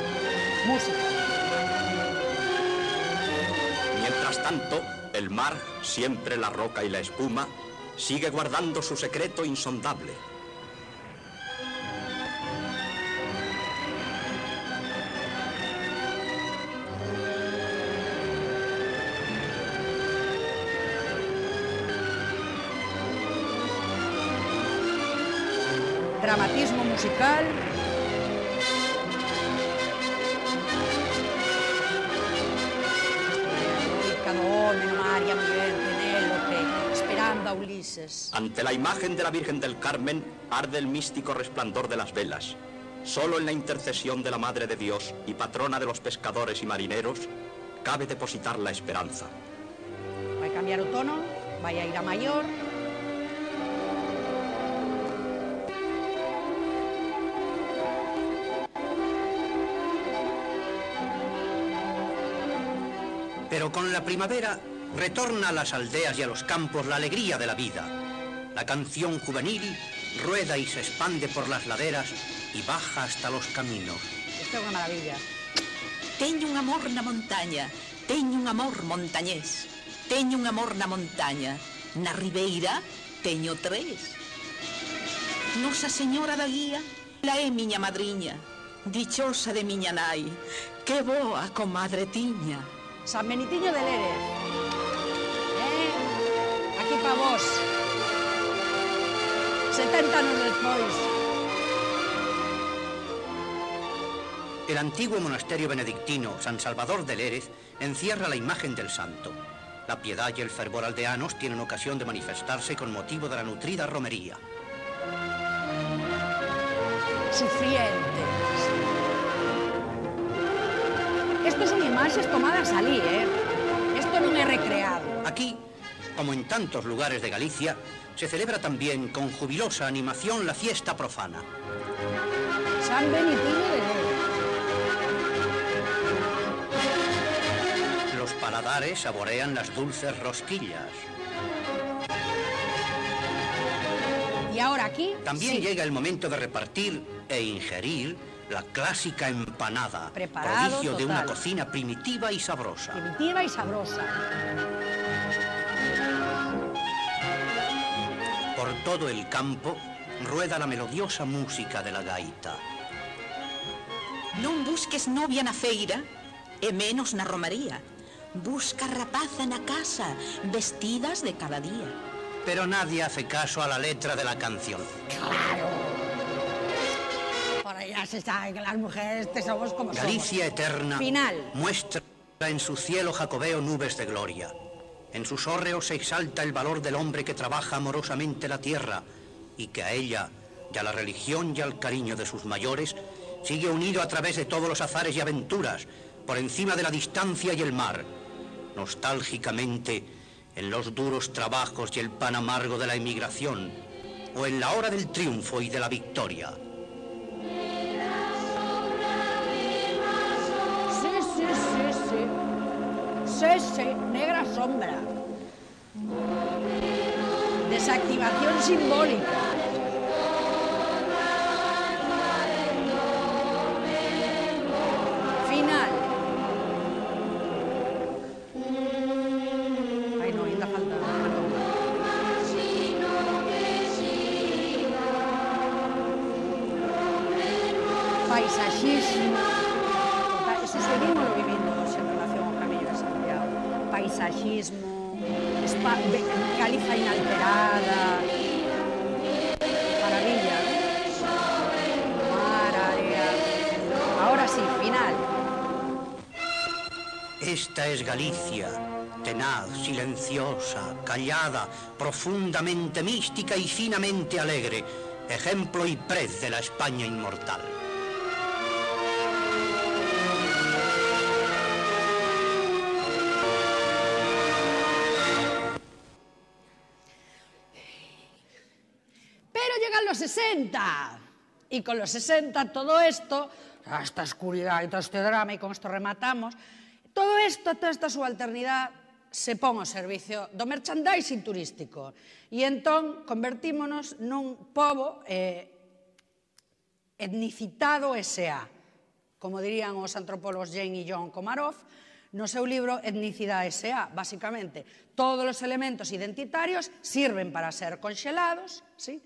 música. Mientras tanto, el mar, siempre la roca y la espuma, sigue guardando su secreto insondable. Dramatismo musical. Cada home no mar e a muller, Penélope, esperando a Ulises. Ante la imagen de la Virgen del Carmen arde el místico resplandor de las velas. Solo en la intercesión de la Madre de Dios y patrona de los pescadores y marineros cabe depositar la esperanza. Vai cambiar o tono, vai a ir a maior. Pero con la primavera retorna a las aldeas y a los campos la alegría de la vida. La canción juvenil rueda y se expande por las laderas y baja hasta los caminos. Isto é unha maravilla. Teño un amor na montaña, teño un amor montañés, teño un amor na montaña, na ribeira teño tres. Nosa Señora da Guía, la é miña madriña, dichosa de miña nai, que boa comadre tiña. San Benitiño de Lérez. Eh? Aquí pa vos. setenta anos despois. El antiguo monasterio benedictino San Salvador de Lérez encierra la imagen del santo. La piedad y el fervor aldeanos tienen ocasión de manifestarse con motivo de la nutrida romería. Sufrientes. Esto son imaxes tomadas alí, eh? Esto non é recreado. Aquí, como en tantos lugares de Galicia, se celebra también con jubilosa animación la fiesta profana. San Benitiño de Lérez. Los paladares saborean las dulces rosquillas. Y ahora aquí... También sí. Llega el momento de repartir e ingerir la clásica empanada, Preparado prodigio total. de una cocina primitiva y sabrosa. Primitiva y sabrosa. Por todo el campo rueda la melodiosa música de la gaita. Non busques novia na feira, e menos na romaría. Busca rapaza na casa, vestidas de cada día. Pero nadie hace caso a la letra de la canción. ¡Claro! Ahora ya se sabe que las mujeres te somos como Galicia somos. eterna Final. muestra en su cielo jacobeo nubes de gloria. En sus hórreos se exalta el valor del hombre que trabaja amorosamente la tierra y que a ella, y a la religión y al cariño de sus mayores, sigue unido a través de todos los azares y aventuras, por encima de la distancia y el mar, nostálgicamente en los duros trabajos y el pan amargo de la emigración, o en la hora del triunfo y de la victoria. Sí, sí, sí, sí. Sí, sí, negra sombra. Desactivación simbólica. Final. Ay, no, ainda falta. Paisajismo. Eso seguimos lo vivindo en relación ao Camiño de Santiago. Paisajismo, Espa Galiza inalterada. Maravilla. Mar, área. Ahora sí, final. Esta es Galicia, tenaz, silenciosa, callada, profundamente mística y finamente alegre, ejemplo y prez de la España inmortal. Pero llegan los sesenta. Y con los sesenta todo esto, esta oscuridad y todo este drama, y con esto rematamos, todo esto, toda esta subalternidade se pon ao servicio do merchandising turístico. E entón convertímonos nun pobo eh, etnicitado S A, como dirían os antropólogos Jane e John Komarov, no seu libro Etnicidade S A, basicamente. Todos os elementos identitarios sirven para ser conxelados, ¿sí?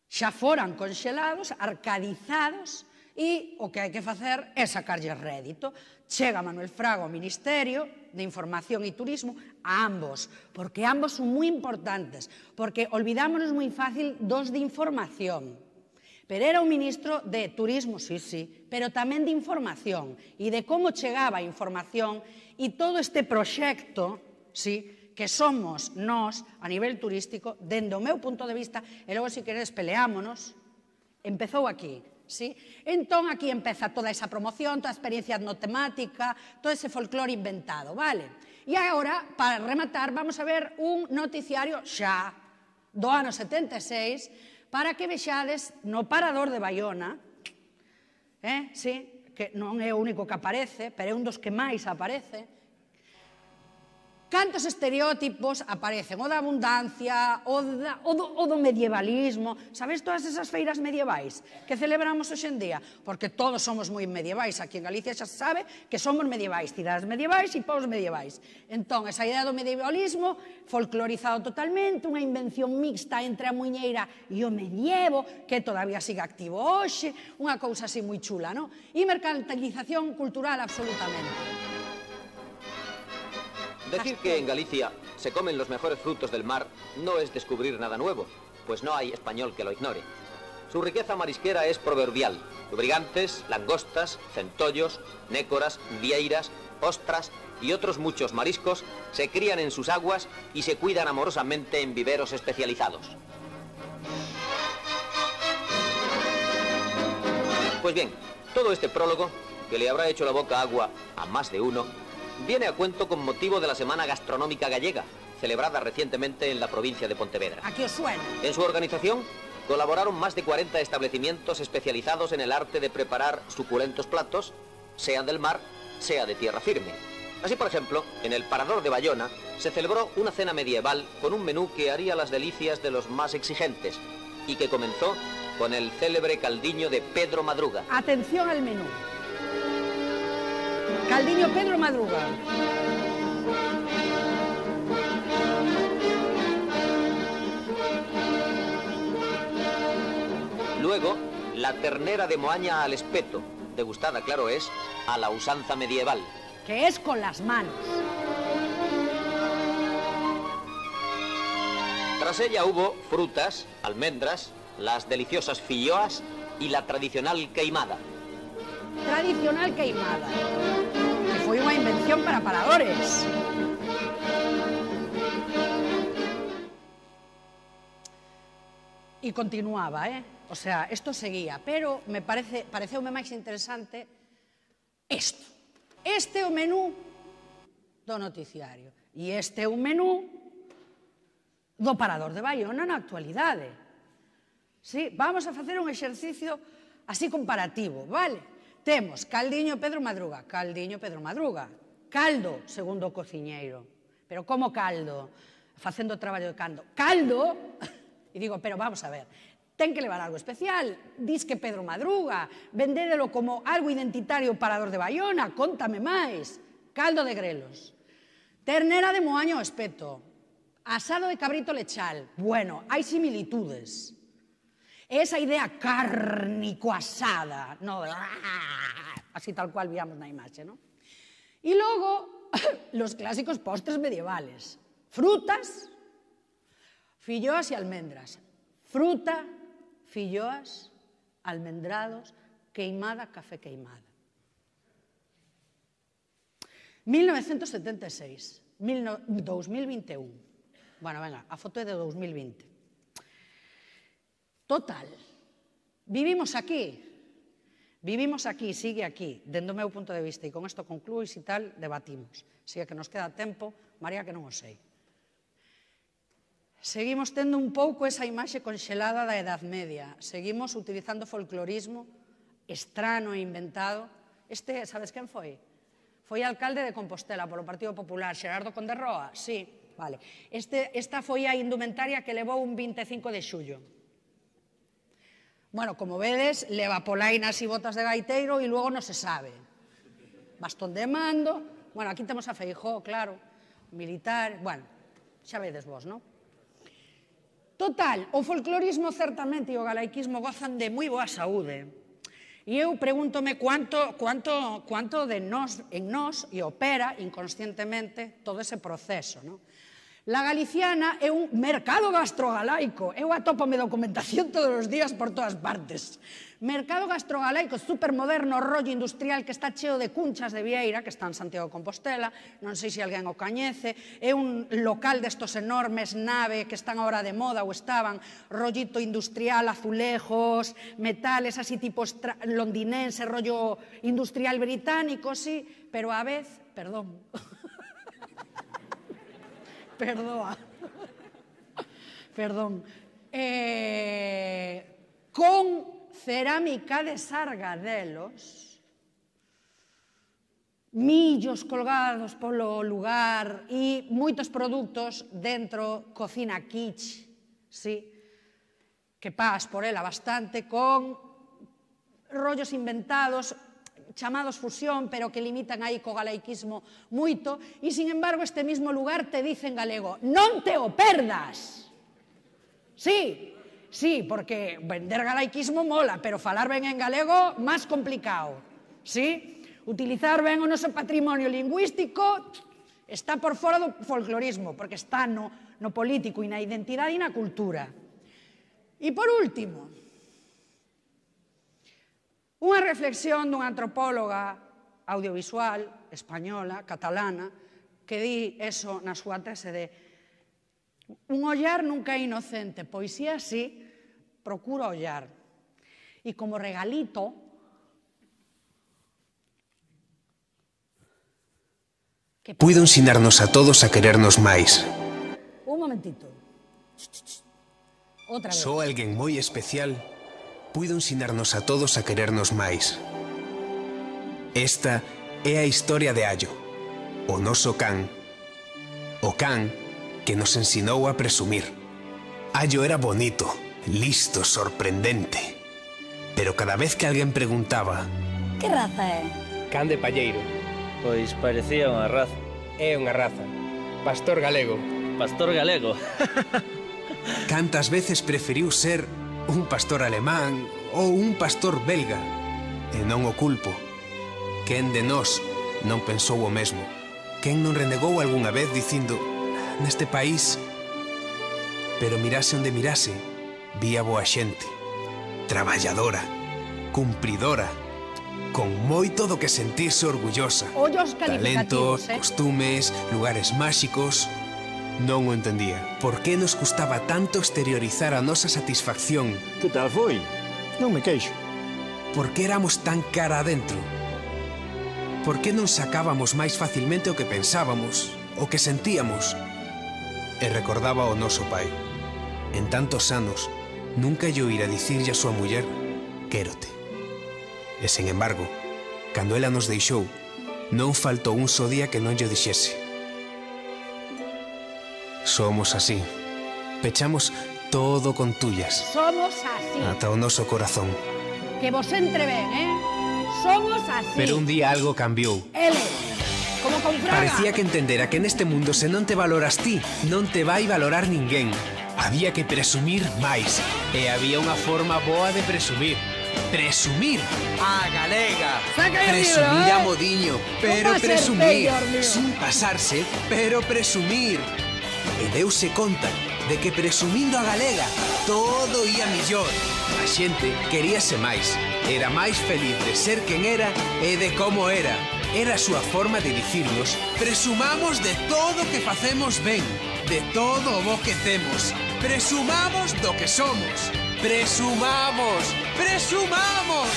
Xa foran conxelados, arcadizados, e o que hai que facer é sacarlle rédito. Chega Manuel Fraga ao Ministerio de Información e Turismo, a ambos, porque ambos son moi importantes, porque olvidámonos moi fácil dos de información. Pero era un ministro de turismo, sí, sí, pero tamén de información, e de como chegaba a información, e todo este proxecto, sí, que somos nós, a nivel turístico, dende o meu punto de vista, e logo, se queredes, peleámonos, empezou aquí. ¿Sí? Entón, aquí empeza toda esa promoción, toda a experiencia etnotemática, todo ese folclore inventado, vale? E agora, para rematar, vamos a ver un noticiario xa do ano setenta e seis para que vexades no Parador de Baiona, eh? Sí, que non é o único que aparece, pero é un dos que máis aparece. Cantos estereótipos aparecen, o da abundancia, o, da, o, do, o do medievalismo. Sabes todas esas feiras medievais que celebramos hoxe en día? Porque todos somos moi medievais. Aquí en Galicia xa se sabe que somos medievais, cidades medievais e povos medievais. Entón, esa idea do medievalismo, folclorizado totalmente, unha invención mixta entre a muiñeira e o medievo, que todavía sigue activo hoxe, unha cousa así moi chula, non? E mercantilización cultural absolutamente. Decir que en Galicia se comen los mejores frutos del mar no es descubrir nada nuevo, pues no hay español que lo ignore. Su riqueza marisquera es proverbial. Lubrigantes, langostas, centollos, nécoras, vieiras, ostras y otros muchos mariscos se crían en sus aguas y se cuidan amorosamente en viveros especializados. Pues bien, todo este prólogo, que le habrá hecho la boca agua a más de uno, viene a cuento con motivo de la Semana Gastronómica Gallega, celebrada recientemente en la provincia de Pontevedra. ¿A qué os suena? En su organización colaboraron más de cuarenta establecimientos especializados en el arte de preparar suculentos platos, sea del mar, sea de tierra firme. Así, por ejemplo, en el Parador de Baiona se celebró una cena medieval con un menú que haría las delicias de los más exigentes y que comenzó con el célebre caldiño de Pedro Madruga. Atención al menú. Caldiño Pedro Madruga. Luego, la ternera de Moaña al espeto, degustada, claro es, a la usanza medieval. Que es con las manos. Tras ella hubo frutas, almendras, las deliciosas filloas y la tradicional queimada. Tradicional queimada. Que foi unha invención para paradores. E continuaba, eh? O sea, isto seguía, pero me parece, pareceume máis interesante isto. Este é o menú do noticiario. E este é o menú do Parador de Baiona na actualidade. Sí, vamos a facer un exercicio así comparativo, vale? Temos caldiño Pedro Madruga, caldiño Pedro Madruga, caldo, segundo o cociñeiro. Pero como caldo? Facendo o traballo de caldo. Caldo? E digo, pero vamos a ver, ten que levar algo especial. Dis que Pedro Madruga, vendédelo como algo identitario Parador de Baiona, contame máis. Caldo de grelos. Ternera de moaño o espeto. Asado de cabrito lechal. Bueno, hai similitudes. Esa idea cárnico-asada, no, así tal cual víamos na imaxe, ¿no? Y logo, los clásicos postres medievales. Frutas, filloas e almendras. Fruta, filloas, almendrados, queimada, café queimada. mil novecientos setenta e seis, dos mil vinte e un. Bueno, venga, a foto é de dos mil vinte. Total, vivimos aquí, vivimos aquí, sigue aquí, dende o meu punto de vista, e con isto concluo e se tal, debatimos. Sigue que nos queda tempo, María, que non o sei. Seguimos tendo un pouco esa imaxe conxelada da Edad Media, seguimos utilizando folclorismo estrano e inventado. Este, sabes quen foi? Foi alcalde de Compostela polo Partido Popular, Xerardo Conde Roa, sí, vale. Esta foi a indumentaria que levou un vinte e cinco de xullo. Bueno, como vedes, leva polainas e botas de gaiteiro e logo non se sabe. Bastón de mando. Bueno, aquí temos a Feijóo, claro, militar. Bueno, xa vedes vos, non? Total, o folclorismo certamente e o galaiquismo gozan de moi boa saúde. E eu pregúntome cuánto, cuánto, cuánto de nós, en nós e opera inconscientemente todo ese proceso, non? La Galiciana é un mercado gastrogalaico. Eu atópome documentación todos os días por todas partes. Mercado gastrogalaico supermoderno, rollo industrial que está cheo de cunchas de vieira, que está en Santiago de Compostela, non sei se alguén o coñece, é un local destos enormes nave que están agora de moda ou estaban, rollito industrial, azulejos, metales así tipo londinense, rollo industrial británico, sí, pero a vez, perdón, Perdoa. Perdón. Eh, con cerámica de sargadelos, millos colgados polo lugar e moitos produtos dentro, cocina kitsch, sí, que pas por ela bastante, con rollos inventados, chamados fusión, pero que limitan aí co galaiquismo moito, e, sin embargo, este mismo lugar te dice en galego, non te o perdas. Sí, sí, porque vender galaiquismo mola, pero falar ben en galego, máis complicado. Sí, utilizar ben o noso patrimonio lingüístico está por fora do folclorismo, porque está no, no político e na identidade e na cultura. E, por último, unha reflexión dunha antropóloga audiovisual española, catalana, que di eso na súa tese de un ollar nunca é inocente, pois si é así, procura ollar. E como regalito, puido ensinarnos a todos a querernos máis. Un momentito. Outra vez. Só alguén moi especial puido ensinarnos a todos a querernos máis. Esta é a historia de Allo, o noso can. O can que nos ensinou a presumir. Allo era bonito, listo, sorprendente. Pero cada vez que alguén preguntaba... Que raza é? Can de palleiro. Pois parecía unha raza. É unha raza. Pastor galego. Pastor galego. Cantas veces preferiu ser un pastor alemán ou un pastor belga. E non o culpo. Quen de nós non pensou o mesmo? Quen non renegou algunha vez dicindo neste país? Pero mirase onde mirase, vía boa xente. Traballadora, cumpridora, con moito do que sentirse orgullosa. Ollos talentos, calificativos, eh? costumes, lugares máxicos. Non o entendía. Por que nos custaba tanto exteriorizar a nosa satisfacción? Que tal foi? Non me queixo. Por que éramos tan cara adentro? Por que non sacábamos máis facilmente o que pensábamos, o que sentíamos? E recordaba o noso pai. En tantos anos, nunca lle oíra dicirlle a súa muller quérote. E, sen embargo, cando ela nos deixou, non faltou un só día que non lle dixese. Somos así. Pechamos todo con tullas. Somos así. Ata o noso corazón. Que vos entre ben, eh? Somos así. Pero un día algo cambiou. Ele, como con Fraga. Parecía que entendera que neste mundo se non te valoras ti, non te vai valorar ninguén. Había que presumir máis. E había unha forma boa de presumir. Presumir a galega. Presumir a modiño, pero presumir. Sin pasarse, pero presumir. E deuse conta de que presumindo a galega todo ía millor. A xente queríase máis. Era máis feliz de ser quen era e de como era. Era a súa forma de dicirnos: presumamos de todo o que facemos ben, de todo o bo que temos. Presumamos do que somos. Presumamos, presumamos,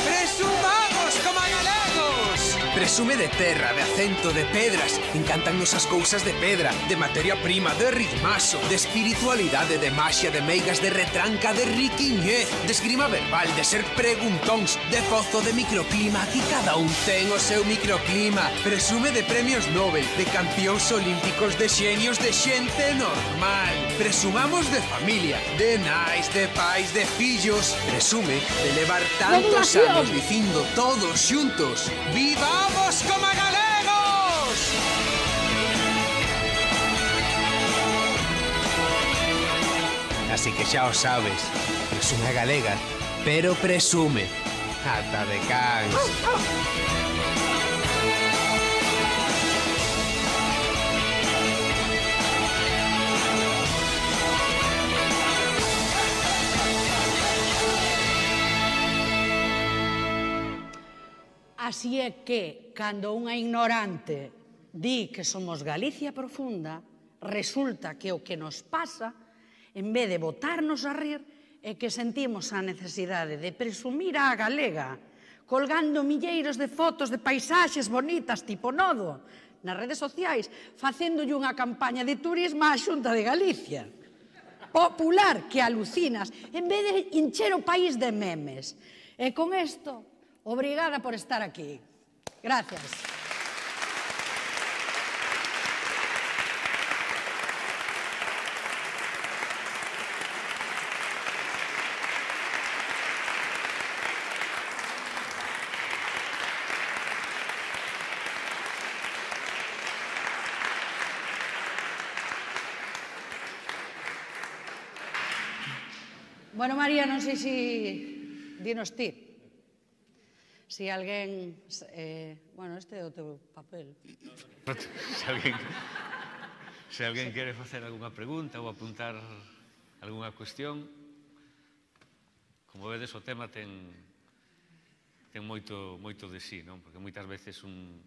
presumamos como galegos. Presume de terra, de acento, de pedras. Encantannos as cousas de pedra, de materia prima, de ritmazo, de espiritualidade, de maxia, de meigas, de retranca, de riquiñez, de esgrima verbal, de ser preguntóns, de pozo, de microclima. Aquí cada un ten o seu microclima. Presume de premios Nobel, de campións olímpicos, de xenios, de xente normal. Presumamos de familia, de nais, de pais, de fillos. Presume de levar tantos anos dicindo todos xuntos: ¡vivamos como galegos! Así que xa o sabes, presume a galega, pero presume. Ata de cans. Así é que, cando unha ignorante di que somos Galicia profunda, resulta que o que nos pasa, en vez de botarnos a rir, é que sentimos a necesidade de presumir a galega, colgando milleiros de fotos de paisaxes bonitas tipo Nodo nas redes sociais, facéndolle unha campaña de turismo á Xunta de Galicia. Popular, que alucinas, en vez de encher o país de memes. E con isto, obrigada por estar aquí. Gracias. Bueno, María, non sei se dinos ti. Si alguén... Eh, bueno, este é o teu papel. Se alguén, se alguén quere facer algunha pregunta ou apuntar algunha cuestión, como vedes, o tema ten, ten moito, moito de sí, non? Porque moitas veces un,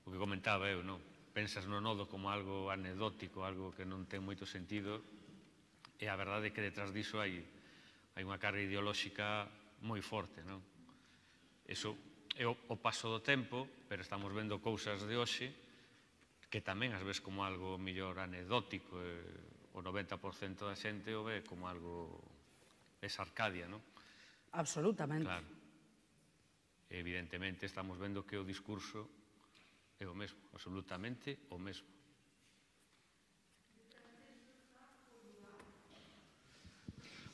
o que comentaba eu, non? Pensas no Nodo como algo anecdótico, algo que non ten moito sentido, e a verdade é que detrás diso hai, hai unha carga ideolóxica moi forte, non? Eso é o, o paso do tempo, pero estamos vendo cousas de hoxe que tamén as ves como algo mellor anecdótico, e o noventa por cento da xente o ve como algo esa Arcadia, non? Absolutamente. Claro. Evidentemente estamos vendo que o discurso é o mesmo, absolutamente o mesmo.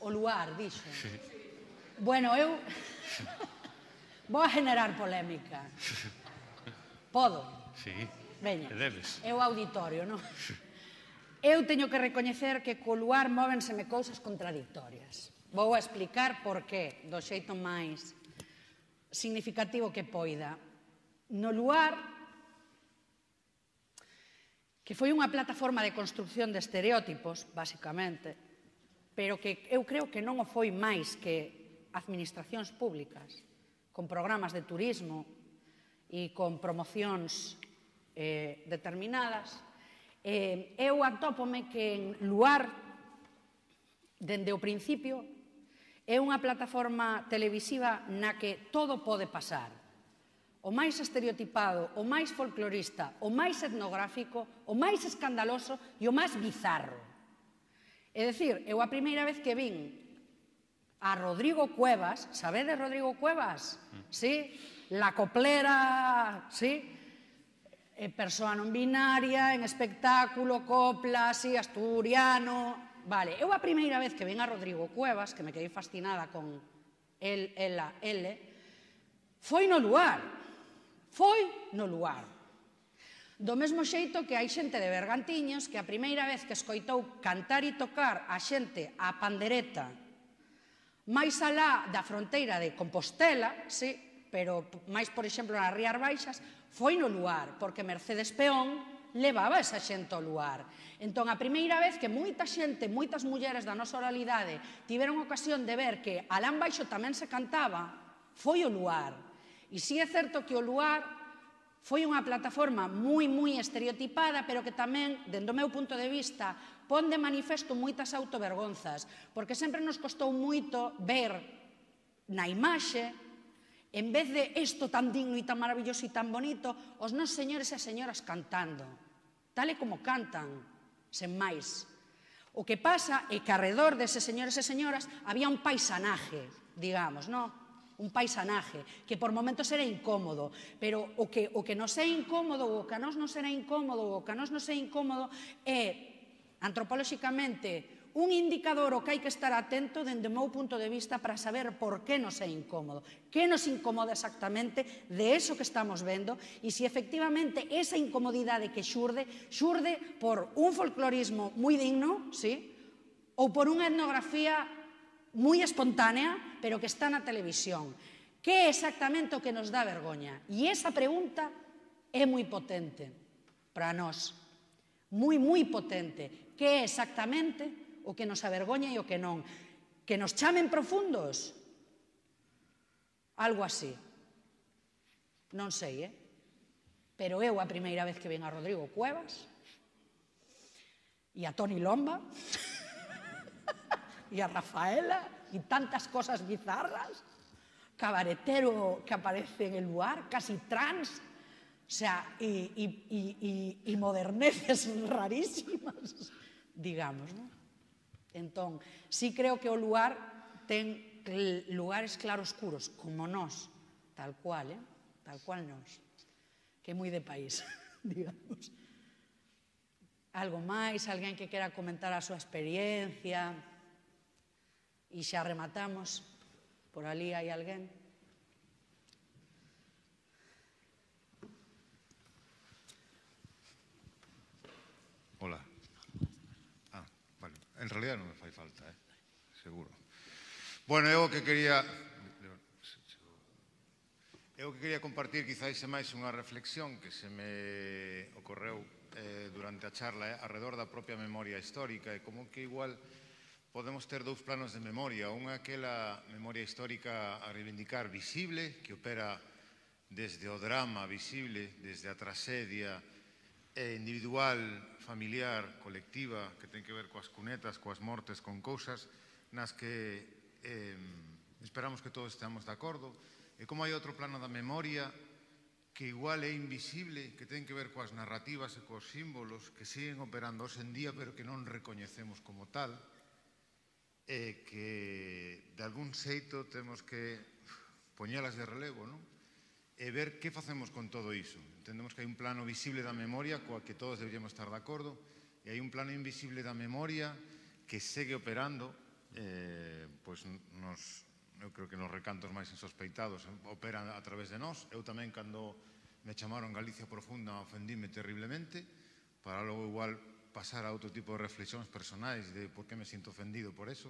O luar, dixo. Sí. Bueno, eu... Vou a generar polémica. Podo? Sí, veña, debes. É o auditorio, non? Eu teño que recoñecer que co luar móvenseme cousas contradictorias. Vou a explicar por qué, do xeito máis significativo que poida. No luar, que foi unha plataforma de construcción de estereótipos, basicamente, pero que eu creo que non o foi máis que administracións públicas, con programas de turismo e con promocións eh, determinadas, Eu atópome que en Luar, dende o principio, é unha plataforma televisiva na que todo pode pasar. O máis estereotipado, o máis folclorista, o máis etnográfico, o máis escandaloso e o máis bizarro. É dicir, eu a primeira vez que vin a Rodrigo Cuevas, sabedes Rodrigo Cuevas? Sí, la coplera, sí, persoa non binaria, en espectáculo, copla, sí, asturiano. Vale, eu a primeira vez que vin a Rodrigo Cuevas, que me quedei fascinada con el, ela, ele, foi no Luar. Foi no Luar. Do mesmo xeito que hai xente de Bergantiños que a primeira vez que escoitou cantar e tocar a xente a pandereta máis alá da fronteira de Compostela, sí, pero máis, por exemplo, nas Rías Baixas, foi no Luar, porque Mercedes Peón levaba esa xente ao Luar. Entón, a primeira vez que moita xente, moitas mulleres da nosa oralidade tiveron ocasión de ver que alán baixo tamén se cantaba, foi o Luar. E si é certo que o Luar foi unha plataforma moi, moi estereotipada, pero que tamén, dende o meu punto de vista, pon de manifesto moitas autovergonzas, porque sempre nos costou moito ver na imaxe, en vez de isto tan digno e tan maravilloso e tan bonito, os nosos señores e señoras cantando, tal e como cantan, sen máis. O que pasa é que arredor deses señores e señoras había un paisanaje, digamos, non? Un paisanaje, que por momentos era incómodo, pero o que, o que nos é incómodo, o que a nos nos era incómodo, o que a nos nos é incómodo é, antropolóxicamente, un indicador ao que hai que estar atento dende o meu punto de vista para saber por que nos é incómodo, que nos incomoda exactamente de eso que estamos vendo e se efectivamente esa incomodidade que xurde, xurde por un folclorismo moi digno, sí, ou por unha etnografía moi espontánea, pero que está na televisión. Que é exactamente o que nos dá vergoña? E esa pregunta é moi potente para nós, moi, moi potente. Que é exactamente o que nos avergoña e o que non? Que nos chamen profundos? Algo así. Non sei, eh? Pero eu a primeira vez que ven a Rodrigo Cuevas e a Toni Lomba e a Rafaela e tantas cosas bizarras, cabaretero que aparece en el Luar, casi trans, o sea, y, y, y, y moderneces rarísimas, digamos, ¿no? Entón, sí creo que o Luar ten lugares claroscuros, como nós, tal cual, eh? Tal cual nós, que é moi de país, digamos. Algo máis, alguén que quera comentar a súa experiencia, e xa rematamos, por ali hai alguén. Hola. Ah, vale. En realidad non me fai falta, eh? Seguro. Bueno, eu que quería... Eu que quería compartir quizás é máis unha reflexión que se me ocorreu eh, durante a charla eh, arredor da propia memoria histórica e como que igual podemos ter dous planos de memoria. Unha que é a memoria histórica a reivindicar visible, que opera desde o drama visible, desde a tragedia individual, familiar, colectiva, que ten que ver coas cunetas, coas mortes, con cousas nas que eh, esperamos que todos estemos de acordo. E como hai outro plano da memoria que igual é invisible, que ten que ver coas narrativas e coas símbolos que siguen operando hoxe en día, pero que non recoñecemos como tal, e que de algún xeito temos que poñelas de relevo, non? E ver que facemos con todo iso. Entendemos que hai un plano visible da memoria coa que todos deberíamos estar de acordo e hai un plano invisible da memoria que segue operando eh, pois nos, eu creo que nos recantos máis insospeitados operan a través de nós. Eu tamén, cando me chamaron Galicia Profunda, ofendíme terriblemente, para logo igual pasar a outro tipo de reflexións personais de por que me sinto ofendido por eso.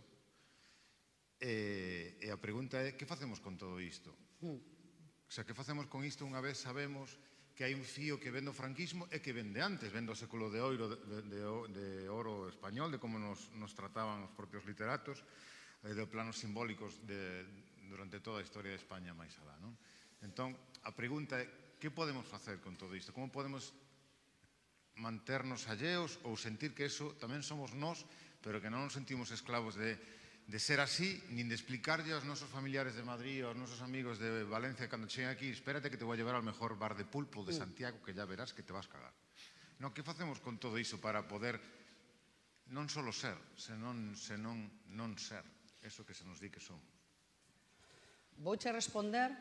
E, e a pregunta é, que facemos con todo isto? O sea, que facemos con isto unha vez sabemos que hai un fío que ven do franquismo e que ven de antes, ven do século de ouro, de, de, de oro español, de como nos, nos trataban os propios literatos, e de planos simbólicos de, durante toda a historia de España máis alá, non? Entón, a pregunta é, que podemos facer con todo isto? Como podemos manternos alleos ou sentir que eso tamén somos nós, pero que non nos sentimos esclavos de, de ser así, nin de explicarlle aos nosos familiares de Madrid, aos nosos amigos de Valencia, cando cheguen aquí, espérate que te vou a llevar ao mejor bar de pulpo de Santiago, que ya verás que te vas cagar. No, que facemos con todo iso para poder non só ser, senón, senón non ser, eso que se nos di que somos? Vouche responder,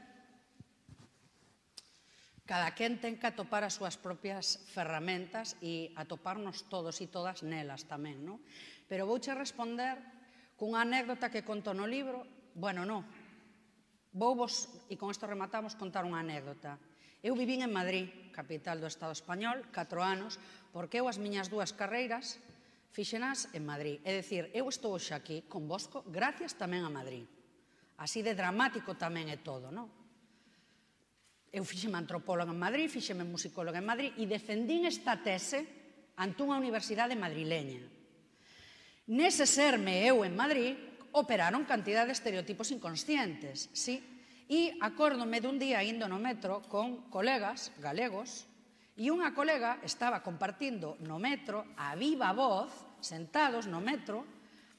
cada quen ten que atopar as súas propias ferramentas e atoparnos todos e todas nelas tamén, non? Pero vouche responder cunha anécdota que conto no libro, bueno, non, vou vos, e con isto rematamos, contar unha anécdota. Eu vivín en Madrid, capital do Estado español, catro anos, porque eu as miñas dúas carreiras fixenas en Madrid. É dicir, eu estou hoxe aquí convosco gracias tamén a Madrid. Así de dramático tamén é todo, non? Eu fixeme antropóloga en Madrid, fixeme musicóloga en Madrid e defendín esta tese ante unha universidade madrileña. Nese serme eu en Madrid operaron cantidad de estereotipos inconscientes, sí? E acórdome dun día indo no metro con colegas galegos e unha colega estaba compartindo no metro a viva voz, sentados no metro,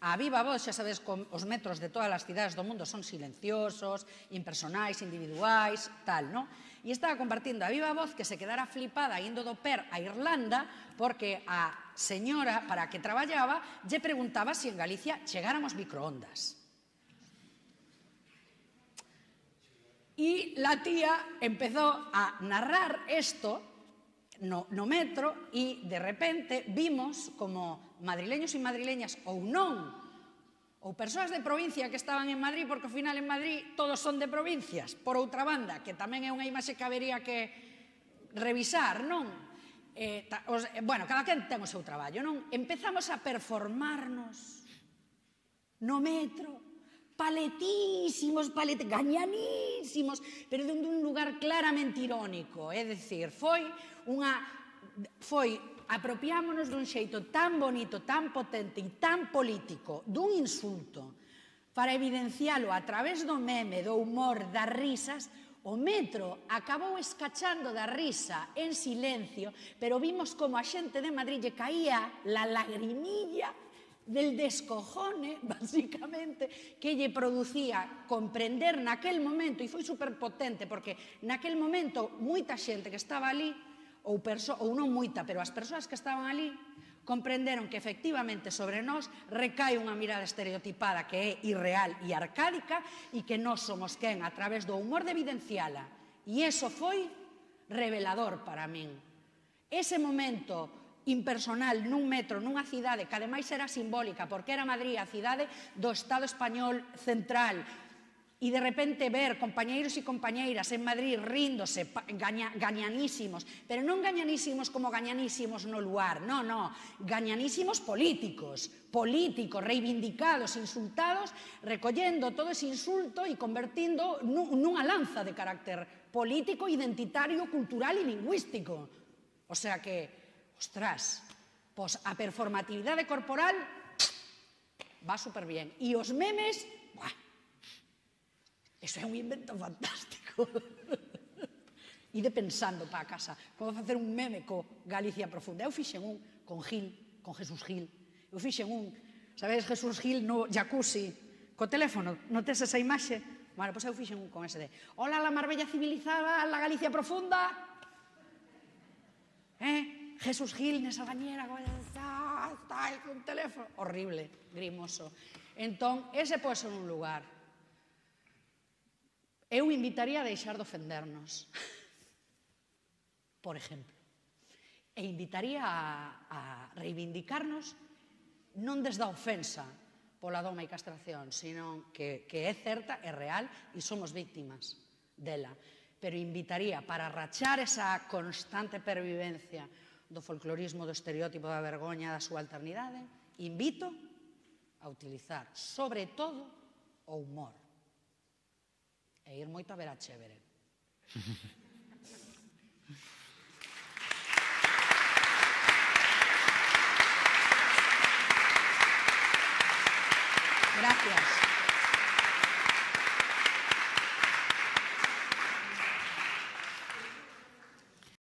a viva voz, xa sabes, os metros de todas as cidades do mundo son silenciosos, impersonais, individuais, tal, non? E estaba compartindo a viva voz que se quedara flipada indo do Per a Irlanda porque a señora para a que traballaba lle preguntaba se en Galicia chegaran os microondas. E la tía empezou a narrar isto no, no metro e de repente vimos como madrileños e madrileñas ou non, ou persoas de provincia que estaban en Madrid, porque ao final en Madrid todos son de provincias, por outra banda, que tamén é unha imaxe que habería que revisar, non? Eh, ta, os, bueno, cada quen ten o seu traballo, non? Empezamos a performarnos no metro, paletísimos, palet... gañanísimos, pero de un lugar claramente irónico, é dicir, foi unha... foi apropiámonos dun xeito tan bonito, tan potente e tan político dun insulto para evidencialo a través do meme, do humor, das risas. O metro acabou escachando da risa en silencio, pero vimos como a xente de Madrid lle caía la lagrimilla del descojone, basicamente, que lle producía comprender naquel momento, e foi superpotente, porque naquel momento moita xente que estaba ali, ou, ou non moita, pero as persoas que estaban ali, comprenderon que efectivamente sobre nós recae unha mirada estereotipada que é irreal e arcádica e que nós somos quen a través do humor de evidenciala. E iso foi revelador para min. Ese momento impersonal nun metro, nunha cidade que ademais era simbólica porque era Madrid, a cidade do Estado español central, e de repente ver compañeiros e compañeiras en Madrid ríndose, gaña, gañanísimos, pero non gañanísimos como gañanísimos no lugar, non, non, gañanísimos políticos, políticos, reivindicados, insultados, recollendo todo ese insulto e convertindo nunha lanza de carácter político, identitario, cultural e lingüístico. O sea que, ostras, pois a performatividade corporal va super bien. E os memes, buah, eso é un invento fantástico. Ide pensando para a casa como facer un meme co Galicia profunda. Eu fixen un con Gil, con Jesús Gil. Eu fixen un, sabes, Jesús Gil no jacuzzi co teléfono, non tes esa imaxe? Bueno, pois eu fixen un con ese de hola, la Marbella civilizada, la Galicia profunda. Eh? Jesús Gil nesa bañera con un teléfono. Horrible, grimoso. Entón, ese pode ser un lugar. Eu invitaría a deixar de ofendernos, por exemplo, e invitaría a, a reivindicarnos non desde a ofensa pola doma e castración, sino que, que é certa, é real e somos víctimas dela. Pero invitaría para rachar esa constante pervivencia do folclorismo, do estereótipo, da vergoña, da subalternidade, invito a utilizar, sobre todo, o humor. E ir moito a ver a Chévere. Gracias.